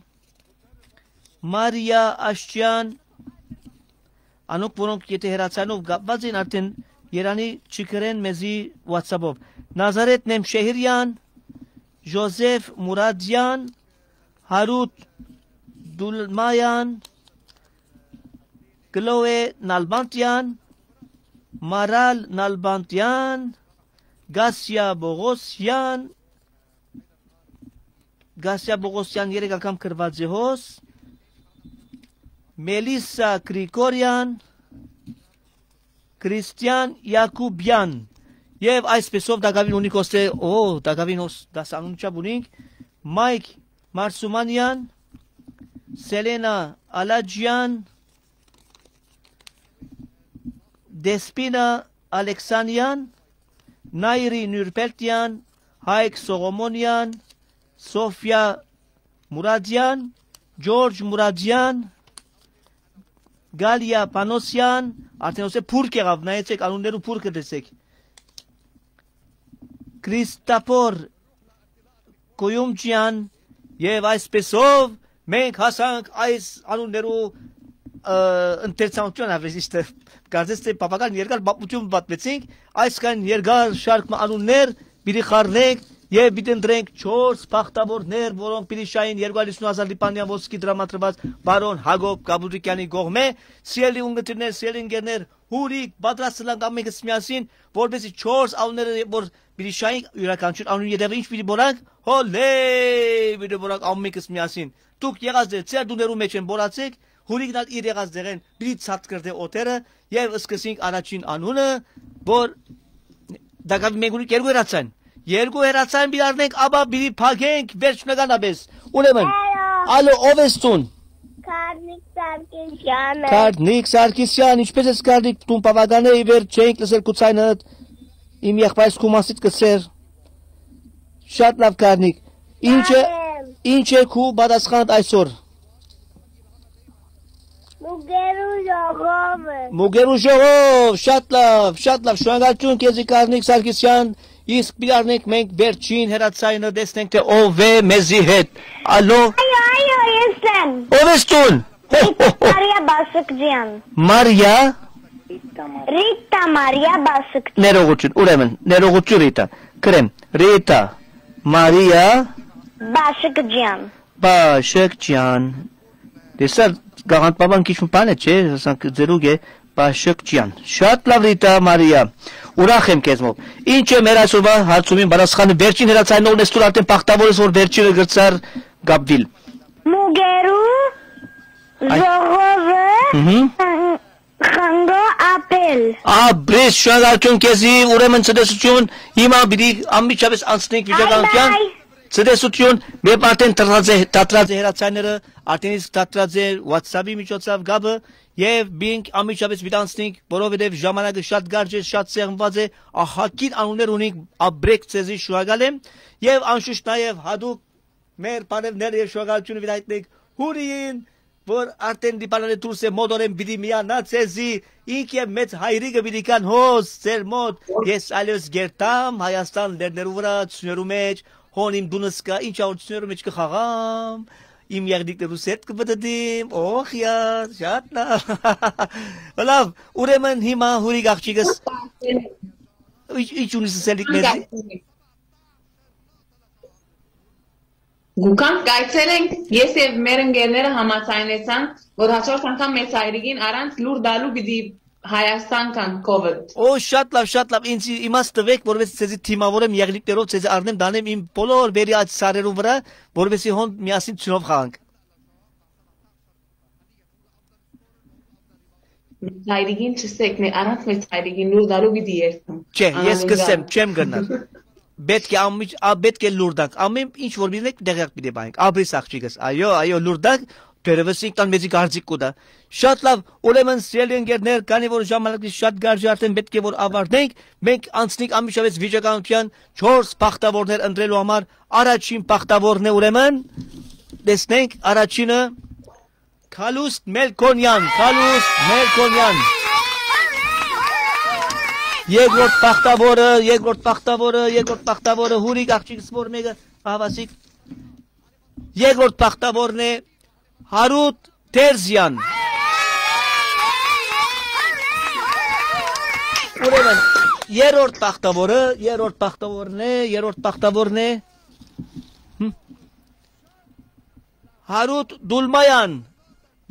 Մարիա Աշճեան, անոնք, որոնք եթե հեռացանով կապված են, արդեն երանի չգրեն մեզի WhatsApp-ով։ Նազարեթ Նեմշեհիրեան, Ժոզեֆ Մուրադեան, Հարութ Դուլմայան, Կլոէ Նալբանտեան, Մարալ Նալբանտեան, Գասիա Բողոսեան, Գասիա Բողոսեան երեք անգամ գրուած է հոս, Մելիսա Գրիգորեան, Քրիստիան Յակուբեան, եւ այսպեսով տակաւին ունի կոստե, օ, տակաւին հոս դասանուն չափ ունինք, Մայք Մարսումանեան, Սելենա Ալաջեան, Դեսպինա Ալեքսանեան, Նայրի Նուրպելտեան, Հայկ Սողոմոնեան, Սոֆիա Մուրադեան, Ջորջ Մուրադեան, Գալիա Պանոսեան, արդեն ոսե փուրք եղաւ, նայեցեք, անուններու փուրքը տեսեք։ Քրիստափոր Կոյումջեան, եւ այսպեսով մենք հասանք այս անուններու, ը, ընթերցանութեան, ավելի ճիշդը, կարծես թէ բավական երկար պատմութիւն պատմեցինք, այսքան երկար շարք մը անուններ պիտի խառնենք եւ պիտի ընտրենք չորս բախտավորներ, որոնք պիտի շային երկու հարյուր յիսուն հազար լիբանեան ոսկի տրամադրուած պարոն Հակոբ Կապուտիկեանի կողմէ։ Սիրելի ունգընտիրներ, սիրելի ընկերներ, հուրիկ, պատրաստ ըլլանք ամենքս միասին, որպեսզի չորս անունները, որ պիտի շայինք, իւրաքանչիւր անուն ետեւը ինչ պիտի բորանք, հոլէ, պիտի բորանք ամենքս միասին։ Դուք եղած եք, ձեր տուներու մեջ են, բորացեք, հուրիկն ալ իր եղած դեղեն պիտի ցատկրտէ օդերը, եւ սկսենք առաջին անունը, որ տակաւին մենք ունենք երկու հեռացան։ Երկու հեռացան պիտի առնենք, ապա պիտի փակենք վերջնականապես։ Ուրեմն, Ալո, ալո, ով ես դուն։ Կարնիկ Սարգսեան է։ Կարնիկ Սարգսեան, ինչպե՞ս ես, Կարնիկ, դուն բաւական է, ի վեր չենք լսեր քու ձայնդ, իմ եղբայրս քու մասիդ կսեր։ Շատ լաւ, Կարնիկ։ Ինչ է, Արեմ։ Ինչ է քու պատասխանդ այսօր։ Մուկերու ժողովը։ Մուկերու ժողով, շատ լաւ, շատ լաւ, շնորհակալություն քեզի, Կարնիկ Սարգսեան, իսկ պիտի առնենք մենք վերջին հեռացայինը, տեսնենք թէ ով է մեզի հետ։ Ալո։ Այո, այո, ես եմ։ Ով ես դուն։ Հո, հո, հո։ Մարիա Բասուկջյան։ Մարիա։ Ռիտա Մարիա Բասուկջյան։ Ներողություն, ուրեմն, ներողություն, Ռիտա։ Գրեմ, Ռիտա Մարիա Բասուկջյան։ Բաշկջյան։ Տեսա, գաղանդպապան քիչ մը բան է, չէ՞, ասանք, ձերուկ է, Բաշկջյան։ Շատ լաւ, Ռիտա Մարիա։ Ուրախ եմ քեզմով։ Ինչ է մեր այսօրվա հարցումին պատասխանը, վերջին հեռացայինողն ես, դու արդեն բախտավոր ես, որ վերջինը գրցար կապվել։ Մուկերու Այ- ժողովը Մհմ։ խն-, խնգո ապել։ Ապրես, շնորհակալություն քեզի, ուրեմն ցտեսություն, հիմա պիտի անմիջապես անցնենք վիճակայության։ Bye bye։ Ցտեսություն, երբ արդեն դրած է, դադրած է հեռացայինները, արդեն իսկ դադրած է WhatsApp-ի միջոցով կապը, եւ մենք անմիջապես պիտի անցնենք, որովհետեւ ժամանակը շատ կարճ է, շատ սեղմված է, ահագին անուններ ունենք, ապրեք, ցեզի շնորհակալ եմ, եւ անշուշտ նաեւ հատուկ մեր բարեւները եւ շնորհակալությունը պիտի հայտնենք Հուրիին, որ արդեն Լիբանանէ դուրս է, մօտորեն պիտի միանա ցեզի, ինք եւ մեծ հայրիկը պիտի կան հոս ձեր մօտ։ Ես այլևս կերտամ Հայաստան լեռներու վրա, ցուներու մեջ, հոն իմ դունս կայ, ինչ ա որ ցուներու մեջ կը խաղամ, իմ եղնիկներու սերտ կը պտտիմ, օխ, յա, շատ լաւ։ Լաւ, ուրեմն հիմա հուրիկ աղջիկս, ի-, ի՞նչ ունի սսելիք մեզի։ Գուքան կայցելենք, ես եւ մեր ընկերները համաձայնեցանք, որ հաջորդ անգամ մեծ հայրիկին առանց լուր տալու պիտի Հայաստան կան կովիդ։ Օ, շատ լաւ, շատ լաւ, ինձ իմաց տուէք, որովհետեւ ձեզի թիմավորեմ եղնիկներով, ձեզի առնեմ, տանեմ իմ բոլոր վերի այդ սարերուն վրա, որովհետեւ հոն միասին ծնով խաղանք։ Մեծ հայրիկին չսեք, մե-, առանց մեծ հայրիկին լուր տալու պիտի երթամ։ Չէ, ես Անանուն կսեմ, գամ։ Չեմ գնար։ Պէտք է ամիջ-, ա, պէտք է լուր տանք, ամեն ինչ որ պիտի դենք, տեղեակ պիտի պահենք, ապրիս աղջիկս, այո, այո, լուր տանք, դերևս ինքնան մեզի կարծիք կու տայ։ Շատ լաւ, ուրեմն, սիրելի ընկերներ, քանի որ ժամանակից շատ գարժ է, արդեն պէտք է որ ավարտենք, մենք անցնենք անմիջապէս վիճականության չորս բախտավորներ ընտրելու համար, առաջին բախտավորն է, ուրեմն, տեսնենք, առաջինը, Քալուստ Մելքոնյան, Քալուստ Մելքոնյան։ Երկրորդ բախտավորը, երկրորդ բախտավորը, երկրորդ բախտավորը, հուրիկ աղջիկ սպոր մեկը, աղվասիկ։ Երկրորդ բախտավորն է Հարութ Թերզյան։ Ուրեմն, երրորդ բախտավորը, երրորդ բախտավորն է, երրորդ բախտավորն է, հմ, Հարութ Դուլմայան։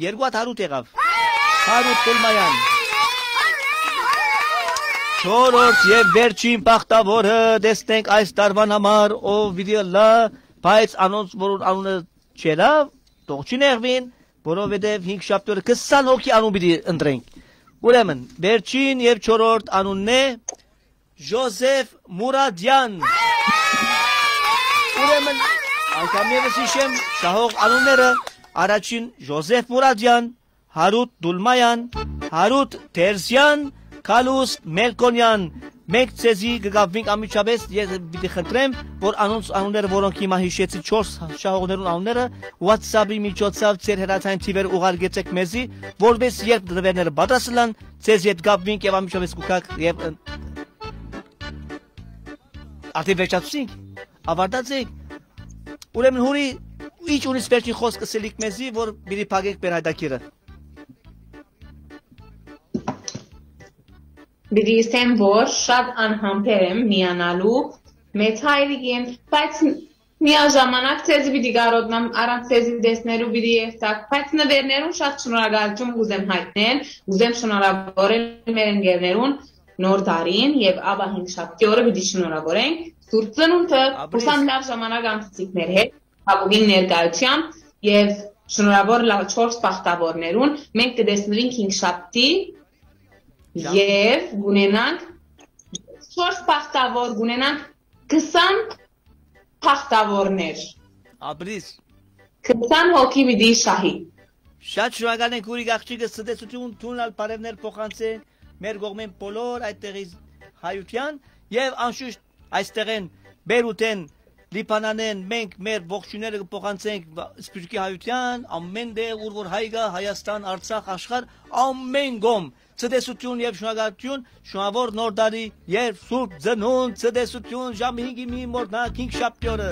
Երկու հատ Հարութ եղաւ։ Հարութ Դուլմայան։ Չորրորդ եւ վերջին բախտավորը, տեսնենք այս տարուան համար, ով պիտի ըլլայ, բայց անոնց, որուն անունը չելա, թող չի նեղուին, որովհետեւ հինգ շաբթի օրը քսան հոգի անուն պիտի ընտրենք։ Ուրեմն, վերջին եւ չորրորդ անունն է Ժոզեֆ Մուրադյան։ Ուրեմն, անգամ եւս հիշեմ, շահող անունները, առաջին Ժոզեֆ Մուրադյան, Հարութ Դուլմայան, Հարութ Թերզյան, Քալուս Մելքոնյան։ Մենք ձեզի կգաբվենք անմիջապէս, ես պիտի խնդրեմ, որ անոնց անունները, որոնք հիմա հիշեցի, չորս շահողներուն անունները, WhatsApp-ի միջոցով ձեր հեռացան թիվերը ուղարկեցեք մեզի, որպես երբ նվերները պատրաստ ըլլան, ձեզ հետ կապվենք եւ անմիջապէս կուքաք եւ, ը, արդեն վերջացուցինք, ավարտած ենք։ Ուրեմն հուրի, ինչ ունիս վերջին խոսքը սելիք մեզի, որ պիտի փակենք մեր հայտագիրը։ Պիտի ասեմ, որ շատ անհամբեր եմ միանալու մեծ հայրիկին, բայց միաժամանակ ձեզի պիտի կարօտնամ, առանց ձեզի տեսնելու պիտի երթաք, բայց նվերներուն շատ շնորհակալություն կուզեմ հայտնել, կուզեմ շնորհավորել մեր ընկերներուն նոր տարին եւ ապա հինգ շաբթի օրը պիտի շնորհավորենք Սուրբ Ծնունդը, Ապրես։ Հուսամ լաւ ժամանակ անցուցիք մեր հետ, հապուկին ներկայությամբ եւ շնորհավոր լաւ չորս բախտավորներուն, մենք կտեսնվենք հինգ շաբթի Շա- եւ կունենանք չորս բախտավոր, կունենանք քսան բախտավորներ։ Ապրիս։ Քսան հոգի պիտի շահի։ Շատ շնորհակալ ենք, ուրիկ աղջիկս, ցտեսություն, թուն ալ բարևներ փոխանցե մեր կողմէն բոլոր այդտեղի հայության եւ անշուշտ այստեղէն, Բերութէն, Լիբանանէն մենք մեր ողջույնները կփոխանցենք վա-, սփիւռքի հայության, ամեն տեղ, ուր որ հայ կայ, Հայաստան, Արցախ, աշխարհ, ամեն կողմ։ Ցտեսություն եւ շնորհակալություն, շնորհավոր նոր տարի, երբ Սուրբ Ծնունդ, ցտեսություն, ժամը հինգի մի մոռնաք, հինգ շաբթի օրը։